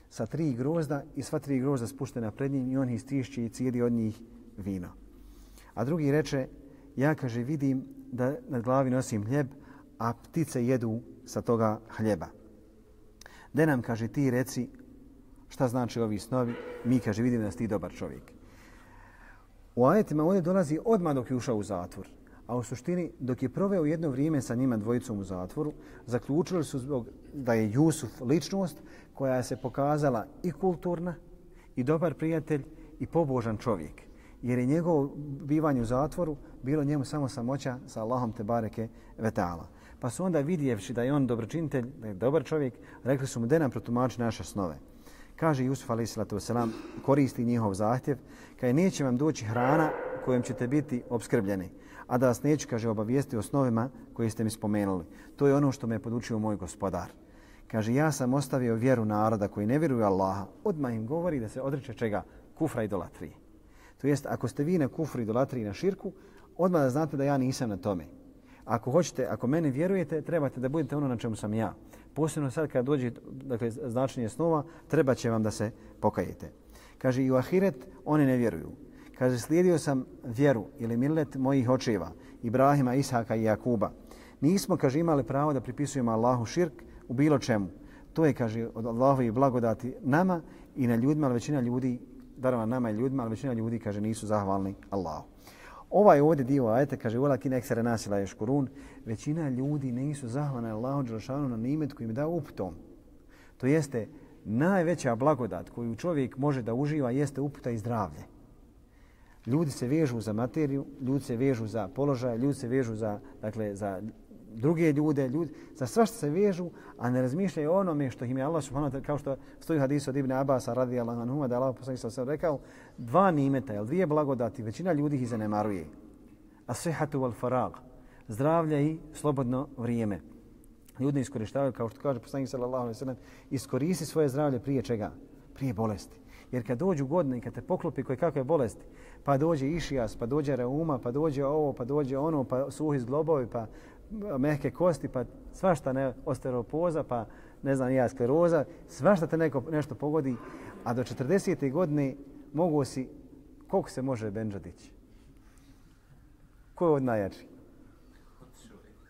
sa 3 grozda i sva 3 grozda spuštena pred njim i on ih stišće i cijedi od njih vino. A drugi reče, ja, kaže, vidim da na glavi nosim hljeb, a ptice jedu sa toga hljeba. De nam, kaže, ti reci šta znači ovi snovi, mi, kaže, vidim da si ti dobar čovjek. U ajetima ovdje dolazi odmah dok je ušao u zatvor. A u suštini, dok je proveo jedno vrijeme sa njima dvojicom u zatvoru, zaključili su da je Jusuf ličnost koja se pokazala i kulturna, i dobar prijatelj, i pobožan čovjek. Jer je njegovo bivanje u zatvoru bilo njemu samo samoća sa Allahom te bareke ve ta'ala. Pa su onda vidjevši da je on dobročinitelj, da je dobar čovjek, rekli su mu da nam protumači naše snove. Kaže Jusuf a.s. koristi njihov zahtjev, kaže neće vam doći hrana kojom ćete biti obskrbljeni, a da vas neću, kaže, obavijesti o snovima koje ste mi spomenuli. To je ono što me je podučio moj gospodar. Kaže, ja sam ostavio vjeru naroda koji ne vjeruju Allaha. Odmah im govori da se odreče čega? Kufra i idolatrije. To jest, ako ste vi na kufru, idolatriji i na širku, odmah da znate da ja nisam na tome. Ako hoćete, ako mene vjerujete, trebate da budete ono na čemu sam ja. Posebno sad kad dođe značenje snova, treba će vam da se pokajete. Kaže, i u ahiret oni ne vjeruju. Kaže, slijedio sam vjeru ili millet mojih očeva, Ibrahima, Ishaka i Jakuba. Nismo, kaže, imali pravo da pripisujemo Allahu širk u bilo čemu. To je, kaže, od Allahovi blagodati nama i na ljudima, ali većina ljudi, darova nama i ljudima, ali većina ljudi, kaže, nisu zahvalni Allahu. Ovaj ovdje dio ajeta, kaže, walakin eksere nasila ješkurun, većina ljudi nisu zahvalni Allahu dželešanu na nimet koji im da uputom. To jeste, najveća blagodat koju čovjek može da uživa jeste uputa i zdravlje. Ljudi se vežu za materiju, ljudi se vežu za položaj, ljudi se vežu za druge ljude, za sva što se vežu, a ne razmišljaju o onome što im je Allah subhanahu wa ta'ala, kao što stoji hadis od Ibn Abasa radijallahu anhuma, da je Allah poslanik sallallahu alejhi ve sellem rekao, 2 nimeta, ili 2 blagodati, većina ljudi ih zanemaruje. As-sihhatu wal farag, zdravlje i slobodno vrijeme. Ljudi iskorištavaju, kao što kaže poslanik sallallahu alejhi ve sellem, iskoristi svoje zdravlje prije čega? Prije bolesti. Jer kad dođu godine i kad te poklopi koje kakve bolesti, pa dođe išijas, pa dođe reuma, pa dođe ovo, pa dođe ono, pa suhi zglobovi, pa mehke kosti, pa svašta ne, osteoporoza, pa ne znam, ja skleroza, svašta te nešto pogodi, a do 40. godine mogu si, koliko se može bendža dići? Ko je od najjači?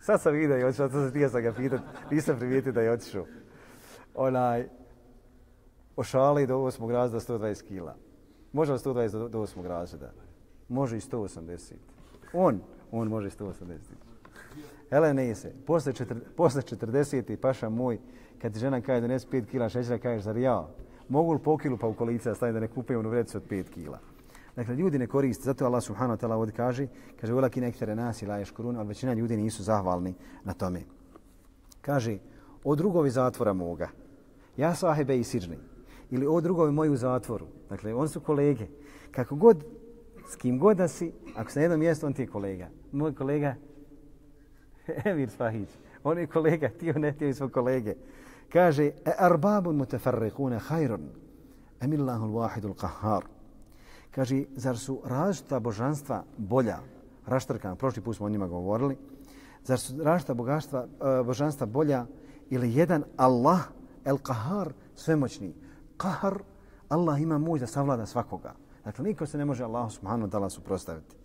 Sad sam vidio i otišao, to htio sam ga pitati, nisam primijetio da je otišao. Ošali do 8. razreda 120 kila. Može li 120 do 8. razreda? Može i 180. On može i 180. Hele, ne se. Posle 40. paša moj, kad ti žena kaže da donesi 5 kila šećera, kažeš, zar ja? Mogu li po kilu pa u kolice da stavim da ne kupujem onu vrećicu od 5 kila? Dakle, ljudi ne koriste, zato Allah subhanahu wa ta'ala ovdje kaže velakin ektere nasi la yashkurun, ali većina ljudi nisu zahvalni na tome. Kaže, o drugovi zatvora moga, ja sahibe i siđni, ili o drugovi moji u zatvoru. Dakle, oni su kolege. Kako god, s kim god da si, ako si na jednom mjestu, on ti je kolega. Moj kolega, Emir Spahić, on je kolega, ti on ne ti svoj kolege. Kaže, arbabun mutafarriquna khairun, amillahul wahidul qahhar. Kaže, zar su različita božanstva bolja, raštrkana, prošli put smo o njima govorili, zar su različita božanstva bolja ili jedan Allah, el qahhar, svemoćni. Qahar, Allah ima moć da savlada svakoga. Dakle, niko se ne može Allahu subhanahu wa ta'ala suprotstaviti.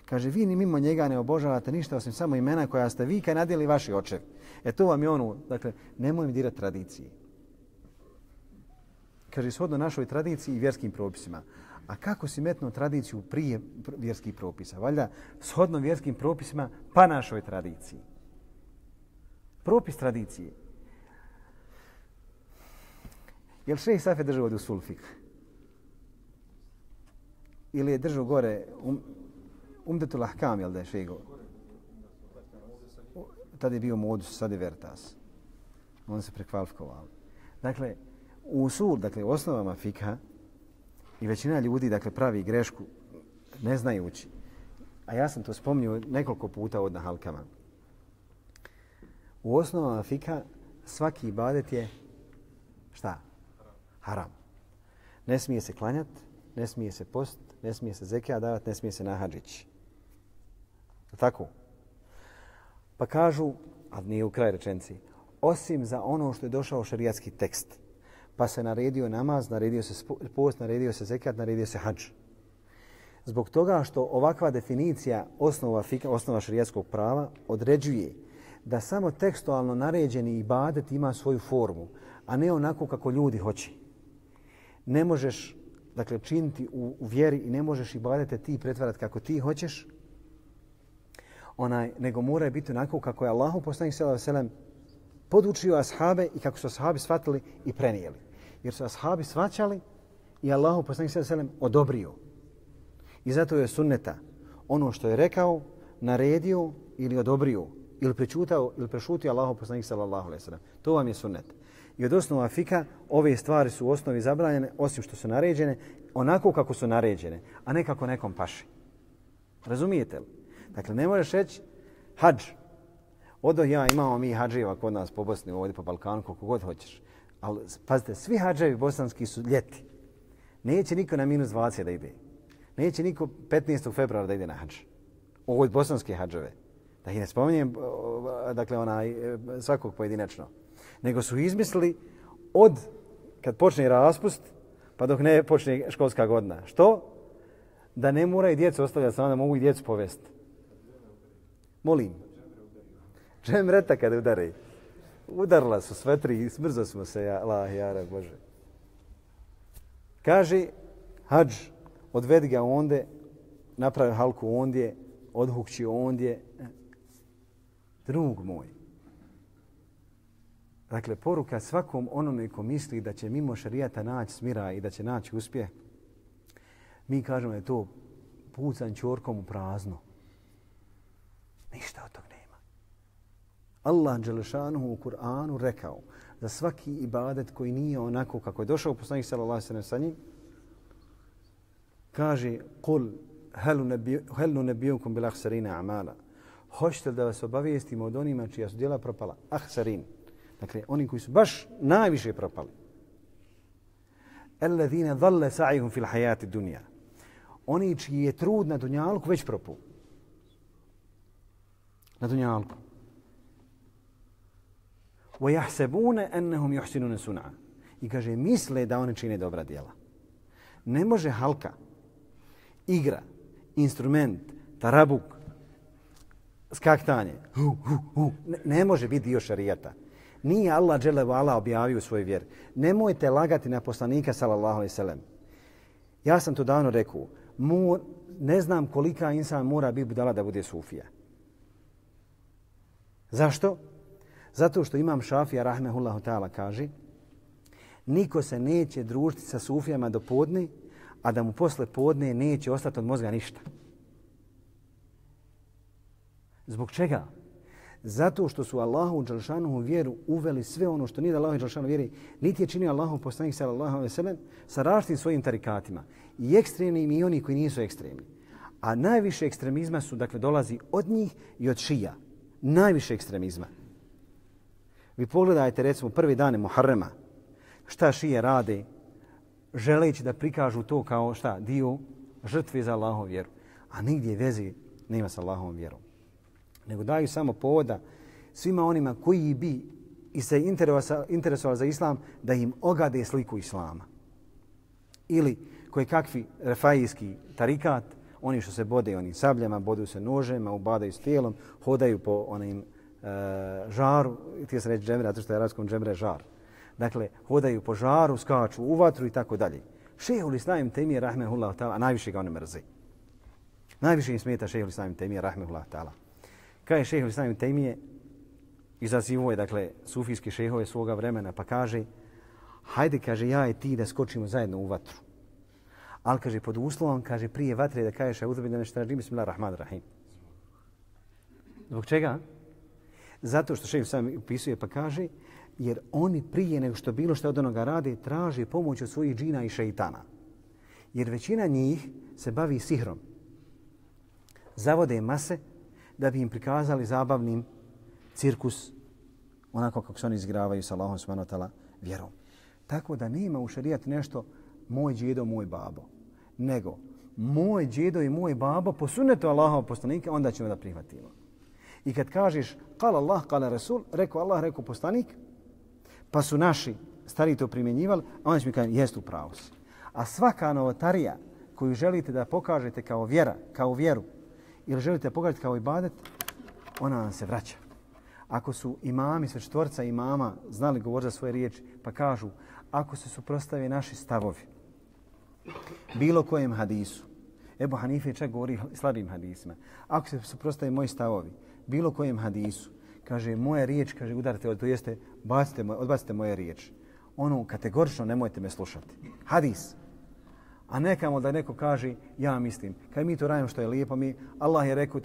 Kaže, vi ni mimo njega ne obožavate ništa osim samo imena koja ste vi kad nadjeli vaši očevi. To vam je ono, dakle, nemoj mi dirati tradicije. Kaže, shodno našoj tradiciji i vjerskim propisima. A kako si metnuo tradiciju prije vjerskih propisa? Valjda, shodno vjerskim propisima pa našoj tradiciji. Propis tradicije. Jel šejh Safi držao od usul fikh? Ili je držao gore Umdetul Ahkam, jel da je šejh? Tada je bio modus, sad je Vertas. On se prekvalifikovao. Dakle, u usul, dakle, u osnovama fikha, i većina ljudi, dakle, pravi grešku ne znajući. A ja sam to spominjao nekoliko puta od na halkama. U osnovama fikha svaki ibadet je šta? Haram. Ne smije se klanjat, ne smije se post, ne smije se zekija davat, ne smije se na hadžić. Tako? Pa kažu, ali nije u kraj rečenci, osim za ono što je došao šerijatski tekst. Pa se naredio namaz, naredio se post, naredio se zekijat, naredio se hadž. Zbog toga što ovakva definicija osnova šerijatskog prava određuje da samo tekstualno naređeni ibadet ima svoju formu, a ne onako kako ljudi hoće. Ne možeš, dakle, činiti u vjeri i ne možeš ibadete ti pretvarati kako ti hoćeš, nego mora biti onako kako je Allahu poslanik sallallahu alejhi ve sellem podučio ashabe i kako su ashabi shvatili i prenijeli. Jer su ashabi shvaćali i Allahu poslanik sallallahu alejhi ve sellem odobrio. I zato je sunneta ono što je rekao, naredio ili odobrio ili prečutao ili prešutio Allahu poslanik sallallahu alejhi ve sellem. To vam je sunnet. I od osnova fika ove stvari su u osnovi zabranjene osim što su naređene onako kako su naređene, a ne kako nekom paše. Razumijete li? Dakle, ne možeš reći hadž. Imamo mi hadževa kod nas po Bosni, ovdje po Balkanu, koliko god hoćeš. Ali pazite, svi hadževi bosanski su ljeti. Neće niko na minus 20 da ide. Neće niko 15. februara da ide na hadž. Ovo je bosanske hadževe. Da ih ne spominjem, dakle, svakog pojedinačno. Nego su izmislili od kad počne raspust pa dok ne počne školska godina. Što? Da ne moraju djecu ostavljati samo, da mogu i djecu povesti. Molim. Džemreta kada udari. Udarila su sve tri i smrzo smo se, jara Bože. Kaže, hadž, odvedi ga ondje, napravi halku ondje, odhukći ondje. Drug moj. Dakle, poruka svakom onome ko misli da će mimo šerijata naći smira i da će naći uspjeh, mi kažemo da je to pucan ćorkom u prazno. Ništa od tog nema. Allah dželešanuhu u Kur'anu rekao za svaki ibadet koji nije onako kako je došao poslanik sallallahu alejhi ve sellem sa njim, kaže قُلْ هَلْ نُنَبِّئُكُمْ بِالْأَخْسَرِينَ أَعْمَالًا. Hoćete da vas obavijestimo od onima čija su djela propala? Ahsarin. Dakle, oni koji su baš najviše propali. الَّذِينَ ضَلَّ سَعِهُمْ فِي الْحَيَاةِ الدُّنْيَا. Oni čiji je trud na dunjalku već propao. Na dunjalku. وَيَحْسَبُونَ أَنَّهُمْ يُحْسِنُونَ سُنْعًا. I kaže, misle da oni čine dobra djela. Ne može halka, igra, instrument, tarabuk, skaktanje, ne može biti dio šarijata. Nije Allah dželle ve ala objavio u svojoj vjeri. Nemojte lagati na poslanika sallallahu alejhi ve sellem. Ja sam to davno rekao. Ne znam kolika insan mora biti budala da bude sufija. Zašto? Zato što imam Šafija rahmehullahu ta'ala kaže niko se neće družiti sa sufijama do podne, a da mu posle podne neće ostati od mozga ništa. Zbog čega? Zato što su Allahu dželšanuhu vjeru uveli sve ono što nije da Allahu dželšanuhu vjeri, niti je činio Allahu poslanik sallallahu alejhi ve sellem sa različitim svojim tarikatima. I ekstremnim i oni koji nisu ekstremni. A najviše ekstremizma su, dakle, dolazi od njih i od šija. Najviše ekstremizma. Vi pogledajte, recimo, prvi dane Muharrema, šta šije rade, želeći da prikažu to kao šta, dio žrtve za Allahovu vjeru. A nigdje veze nema sa Allahovom vjerom. Nego daju samo povoda svima onima koji bi i se interesovali za islam da im ogade sliku islama. Ili koji kakvi refajijski tarikat, oni što se bode onim sabljama, bodu se nožema, ubadaju s tijelom, hodaju po onim žaru, ti se reći džemre, zato što je arapskom džemre žar. Dakle, hodaju po žaru, skaču u vatru i tako dalje. Šejhul Islam ibn Tejmije rahmehullahu ta'ala, a najviše ga oni mrze. Najviše im smeta Šejhul Islam ibn Tejmije rahmehullahu ta'ala. Kaže Šejhul Islam ibn Tejmije, izazivo je, dakle, sufijski šejhove svoga vremena, pa kaže, hajde, kaže, ja i ti da skočimo zajedno u vatru. Ali, kaže, pod uslovom, kaže, prije vatre da kažeš auzu billahi minash šaitanir bismillahir-rahmanir-rahim. Zbog čega? Zato što šejh sam upisuje pa kaže, jer oni prije nego što bilo što od onoga rade, traže pomoć od svojih džina i šeitana. Jer većina njih se bavi sihrom. Zavode mase da bi im prikazali zabavnim cirkus, onako kako se oni izigravaju sa Allahom subhanahu wa ta'ala vjerom. Tako da nema u šerijatu nešto moj djedo, moj babo. Nego, moj djedo i moj babo po sunnetu Allahova poslanika, onda ćemo da prihvatimo. I kad kažeš, kala Allah, kala Rasul, rekao Allah, rekao poslanik, pa su naši stariji to primjenjivali, a onda će mi kažem, jest u pravu si. A svaka novotarija koju želite da pokažete kao vjera, kao vjeru, ili želite da pokažete kao ibadet, ona vam se vraća. Ako su imami, sve četvorca imama, znali govoriti za svoje riječi, pa kažu, ako se suprostave naši stavovi, bilo kojem hadisu, Ebu Hanife čak govori slabim hadisima, ako se suprostave moji stavovi, bilo kojem hadisu, kaže, moja riječ, kaže, udarite, to jeste, odbacite moje riječ. Ono, kategorično nemojte me slušati. Hadis. A nekamo da neko kaže, ja mislim, kad mi to radimo što je lijepo, Allah je rekao,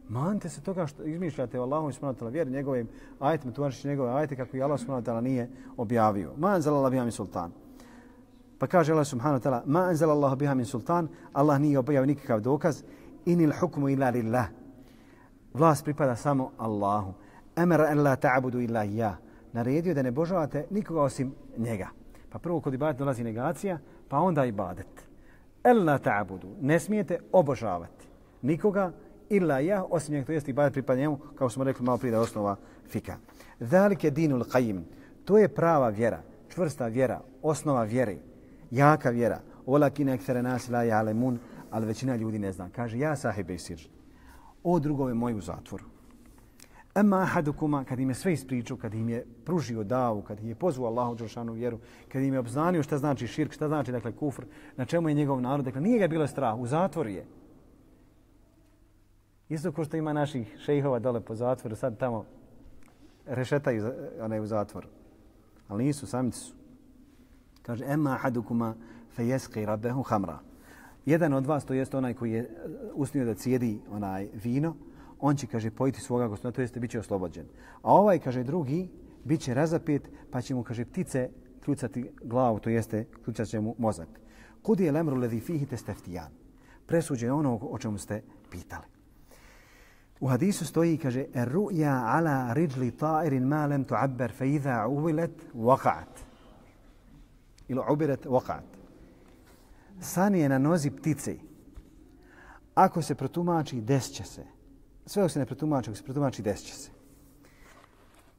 manite se toga što izmišljate o Allahom subhanahu wa ta'ala vjeri, njegovim ajetima, tumačeći njegove ajete kako i Allah subhanahu wa ta'ala nije objavio. Ma anzala biha min sultan. Pa kaže Allah subhanahu wa ta'ala, ma anzala Allah biha min sultan, Allah nije objavio nikakav dokaz, inil hukmu illa lillah. Vlast pripada samo Allahu. Amara an la ta'budu illa iyyah. Naredio da ne božavate nikoga osim njega. Pa prvo kod ibadeta dolazi negacija, pa onda ibadet. Alla ta'budu. Ne smijete obožavati nikoga illa ja, osim njega, to jest ibadet pripada njemu, kao smo rekli malo prije da je osnova fika. Zalike dinul qayyim. To je prava vjera, čvrsta vjera, osnova vjere, jaka vjera. Walakin akthara nas la ya'lamun, al većina ljudi ne zna. Kaže, ja sahibe sir. O drugove moji u zatvoru. Amma ahadukuma, kad im je sve ispričao, kad im je pružio davu, kad im je pozvao Allahu dželešanu vjeru, kad im je obznanio šta znači širk, šta znači, dakle, kufr, na čemu je njegov narod, dakle, nije ga bilo strah, u zatvoru je. Isto ko što ima naših šejhova dole po zatvoru, sad tamo rešetaju u zatvoru. Ali nisu, samici su. Kaže, emma ahadukuma fe yasqi rabbahu khamra. Jedan od vas, to jest onaj koji je usnio da cijedi onaj vino, on će, kaže, pojiti svoga gospodina, to jeste, bit će oslobođen. A ovaj, kaže, drugi, bit će razapet, pa će mu, kaže, ptice kljucati glavu, to jeste, kljucat će mu mozak. Kudi je lemru ledhi fihi testeftijan. Presuđe je ono o čemu ste pitali. U hadisu stoji, kaže, ru'ja ala rijli ta'irin ma lem tu'abber fe idha uvilet waqa'at. Ili ubiret waqa'at. San je na nozi ptice. Ako se protumači, desit će se. Sve ako se ne protumači, ako se protumači, desit će se.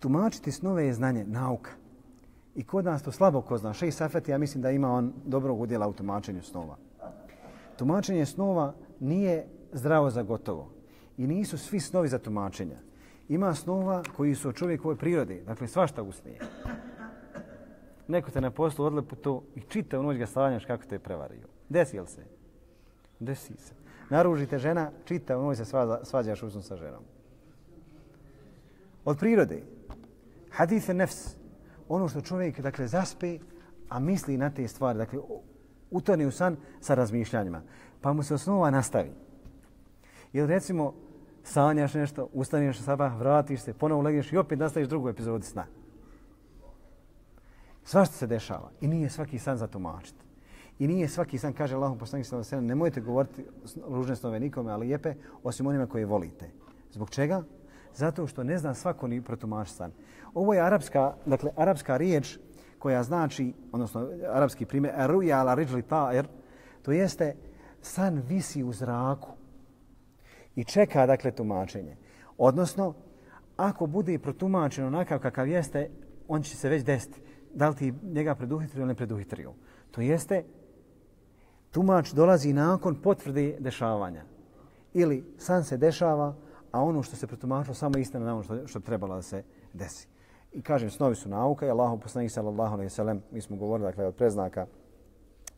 Tumačiti snove je znanje, nauka. I kod nas to slabo ko zna. Šejh Safeti, ja mislim da ima on dobrog udjela u tumačenju snova. Tumačenje snova nije zdravo za gotovo. I nisu svi snovi za tumačenja. Ima snova koji su od čovjekove prirode. Dakle, svašta usnije. Neko te na poslu odlepo to i čita u noć ga stavljaš kako te je prevario. Desi li se? Desi se. Naružite žena, čita u noć se svađaš usnu sa ženom. Od prirode. Hadith nefs. Ono što čovjek, dakle, zaspe, a misli na te stvari. Dakle, utone u san sa razmišljanjima. Pa mu se osnova nastavi. Ili recimo, sanjaš nešto, ustaneš sabah, vratiš se, ponovo legneš i opet nastaviš drugu epizodu sna. Svašta se dešava i nije svaki san za tumačiti. I nije svaki san, kaže Allahov poslanik sallallahu alejhi ve sellem, nemojte govoriti ružne snove nikome, ali lijepe, osim onima koje volite. Zbog čega? Zato što ne zna svako ni protumačiti san. Ovo je arapska riječ koja znači, odnosno arapski primjer, ruja ala rijli ta'ir, to jeste san visi u zraku i čeka, dakle, tumačenje. Odnosno, ako bude protumačeno onakav kakav jeste, on će se već desiti. Da li ti njega preduhitrio ili ne preduhitrio. To jeste, tumač dolazi nakon potvrde dešavanja. Ili san se dešava, a ono što se protumačilo samo istina na ono što trebalo da se desi. I kažem, snovi su nauka i Allahov poslanik sallallahu alejhi ve sellem, mi smo govorili, dakle, od preznaka,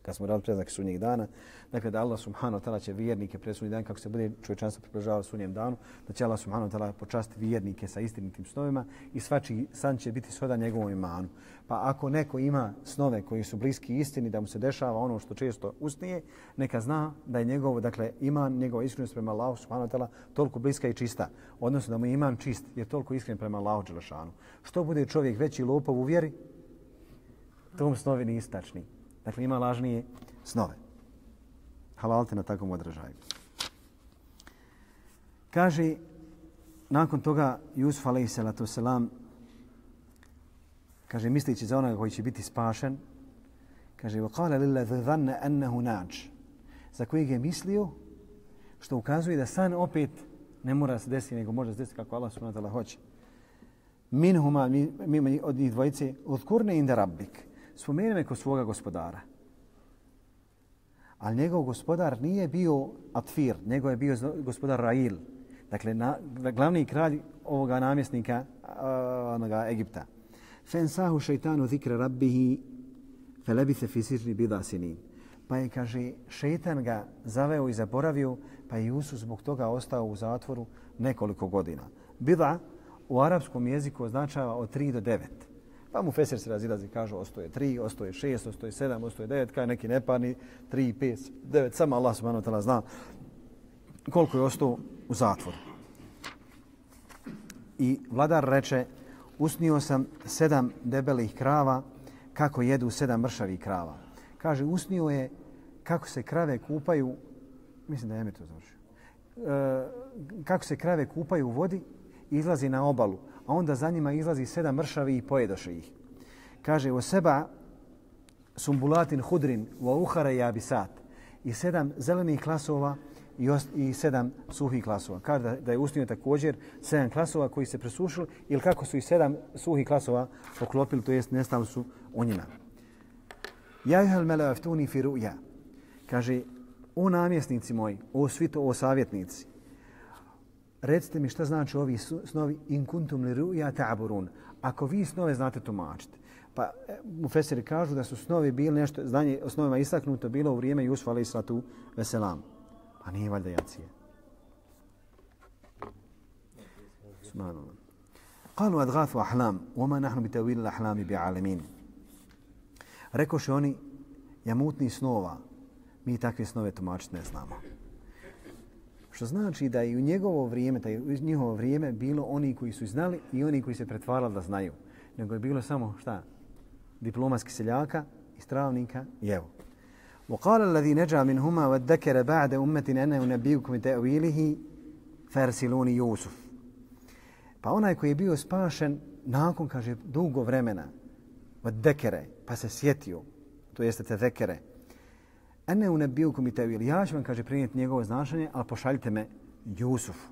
kad smo radili preznake sudnjeg dana, dakle, da Allah subhanahu wa ta'ala će vjernike pred sudnji dan, kako se bude čovječanstvo približavalo sudnjem danu, da će Allah subhanahu wa ta'ala počastiti vjernike sa istinitim snovima i svačiji san će biti sodan njegovom imanu. Pa ako neko ima snove koji su bliski istini, da mu se dešava ono što često usnije, neka zna da je njegov, dakle, iman, njegova iskrenost prema Allahu subhanahu wa ta'ala toliko bliska i čista. Odnosno da mu je iman čist, je toliko iskren prema Allahu dželešanu. Što bude čovjek veći lopov u vjeri, tom snovi nisu tačni. Dakle, ima lažnije snove. Halal te na takvom odražaju. Kaže, nakon toga Jusuf a.s. kaže, mislići za onoga koji će biti spašen, kaže, وَقَالَ لِلَّذِ ظَنَّ أَنَّهُ نَاجٍ, za kojeg je mislio, što ukazuje da san opet ne mora se desiti, nego može se desiti kako Allah subhanahu wa ta'ala hoće. Minhuma, od njih dvojice, udkurne inda rabbik, spomeni me kod svoga gospodara. Ali njegov gospodar nije bio Atfir, nego je bio gospodar Rail. Dakle, glavni kralj ovoga namjesnika onoga Egipta. Fensahu šeitanu zikra rabbihi felebise fi sijni bida sinin. Pa je, kaže, šeitan ga zaveo i zaboravio, pa je Jusuf zbog toga ostao u zatvoru nekoliko godina. Bida u arapskom jeziku označava od 3 do 9. Pa mu Fesir se razilazi, kažu ostoje 3, ostoje 6, ostoje 7, ostoje 9, kaj neki neparni 3, 5, 9. Samo Allah subhanahu wa ta'ala zna koliko je ostao u zatvoru. I vladar reče, usnio sam 7 debelih krava kako jedu 7 mršavih krava. Kaže, usnio je kako se krave kupaju, mislim da je to završio, kako se krave kupaju u vodi i izlazi na obalu, a onda za njima izlazi 7 mršavi i pojedoše ih. Kaže, o seba sumbulatin hudrin wa uhara jabisat, i 7 zelenih klasova i 7 suhih klasova. Kaže da je usnio također 7 klasova koji se presušili ili kako su i 7 suhih klasova poklopili, to jest nestali su u njima. Ja juhel mele aftuni fi ru'ja. Kaže, o namjesnici moji, o svito, o savjetnici, recite mi šta znači ovi snovi in kuntum li ru'ja ta'burun. Ako vi snove znate tumačiti. Pa mufesiri kažu da su snovi bili nešto, znanje o snovima istaknuto bilo u vrijeme Jusufa alejhiselatu veselam. A nije valjda jacije. Subhanallah. Qalu adghathu ahlam, wama nahnu bitawil al-ahlam bi'alamin. Rekoše oni, jamutni snova, mi takve snove tumačiti ne znamo. Što znači da i u njegovo vrijeme, da u njihovo vrijeme bilo oni koji su znali i oni koji se pretvarali da znaju. Nego je bilo samo šta? Diplomatski seljaka, istravnika i evo. وقال الذي نجا منهما وادكر بعد أمة أنه نبيكم تأويله فارسلوني يوسف. Pa onaj koji je bio spašen nakon, kaže, dugo vremena, vaddekere, pa se sjetio, to jeste tezekere, ene unebbiukum ta'wil, ja ću vam, kaže, prinijeti njegovo značenje, ali pošaljite me Jusufu.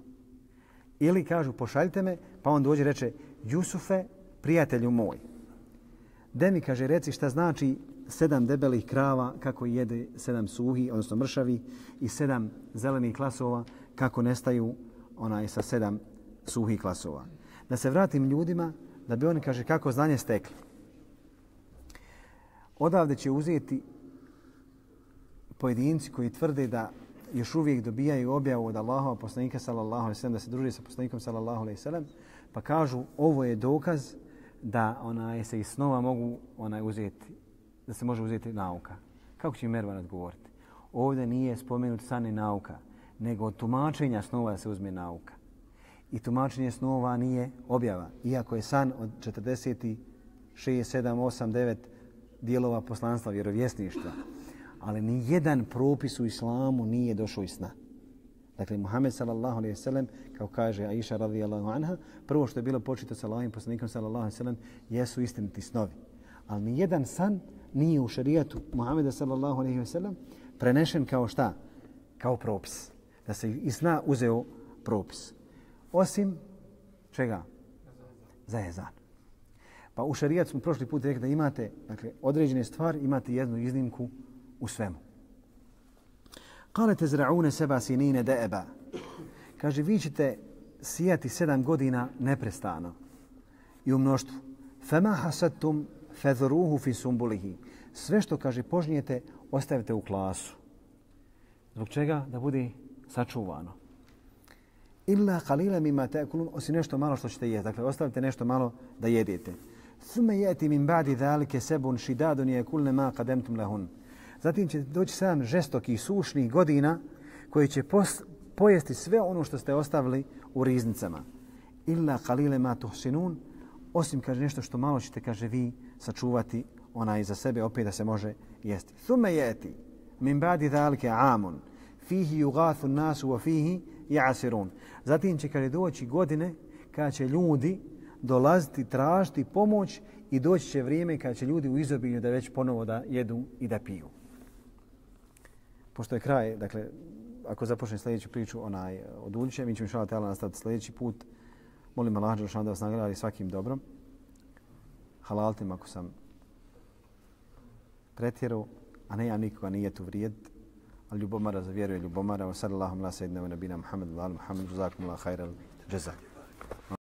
Ili kažu pošaljite me, pa on dođe i reče Jusufe, prijatelju moj. De mi kaže reci šta znači 7 debelih krava kako jede 7 suhi, odnosno mršavi i 7 zelenih klasova kako nestaju sa 7 suhih klasova. Da se vratim ljudima da bi oni kaže kako znanje stekli. Odavde će uzeti pojedinci koji tvrde da još uvijek dobijaju objavu od Allahova poslanika sallallahu alejhi ve sellem, da se druže sa poslanikom sallallahu alejhi ve sellem, pa kažu ovo je dokaz da se iz snova mogu uzeti, da se može uzeti nauka. Kako će Mervan odgovoriti? Ovdje nije spomenut san i nauka, nego od tumačenja snova da se uzme nauka. I tumačenje snova nije objava, iako je san od 46, 7, 8, 9 dijelova poslanstva vjerovjesništva. Ali ni jedan propis u islamu nije došao iz sna. Dakle, Muhammed sallallahu alejhi ve sellem, kao kaže Aisha radijallahu anha, prvo što je bilo počito sa Allahovim poslanikom sallallahu alejhi ve sellem jesu istiniti snovi. Ali ni jedan san nije u šerijatu Muhameda sallallahu alejhi ve sellem prenešen kao šta? Kao propis. Da se iz sna uzeo propis. Osim čega? Za ezan. Pa u šerijatu smo prošli put rekli da imate određene stvari, imate jednu iznimku u svemu. Kale tezra'une seba sinine de'eba. Kaže, vi ćete sijati 7 godina neprestano i u mnoštvu. Fema hasadtum fedruhu fi sumbulihi. Sve što, kaže, požnijete, ostavite u klasu. Zbog čega? Da bude sačuvano. Illa qalila mimma ta'kulun, osim nešto malo što ćete jesti. Dakle, ostavite nešto malo da jedete. Thumma yati min ba'di zalika sabun shidadun yakulna ma qadamtum lahun. Zatim će doći 7 žestokih sušnih godina koji će pojesti sve ono što ste ostavili u riznicama. Illa qalila ma tuhsinun, osim kaže nešto što malo ćete, kaže, vi sačuvati za sebe opet da se može jesti. Thumma yati min ba'di zalika 'amun fihi yughathu an-nas wa fihi ya'sirun. Zatim će kaže doći godine kada će ljudi dolaziti tražiti pomoć i doći će vrijeme kada će ljudi u izobilju da već ponovo da jedu i da piju. Pošto je kraj, dakle, ako započnem sljedeću priču od Uljića, mi ćemo inšallah ta'ala nastaviti sljedeći put. Molim Allah da vas nagradi svakim dobrom. Halaltim ako sam pretjerao, a ne ja nikoga nije tu vrijed. A ljubomara za vjeru je ljubomara. Wa sallallahu ala sayyidina wa nabina Muhammad wa ala Muhammad. Jazakumullahu khairal jazak.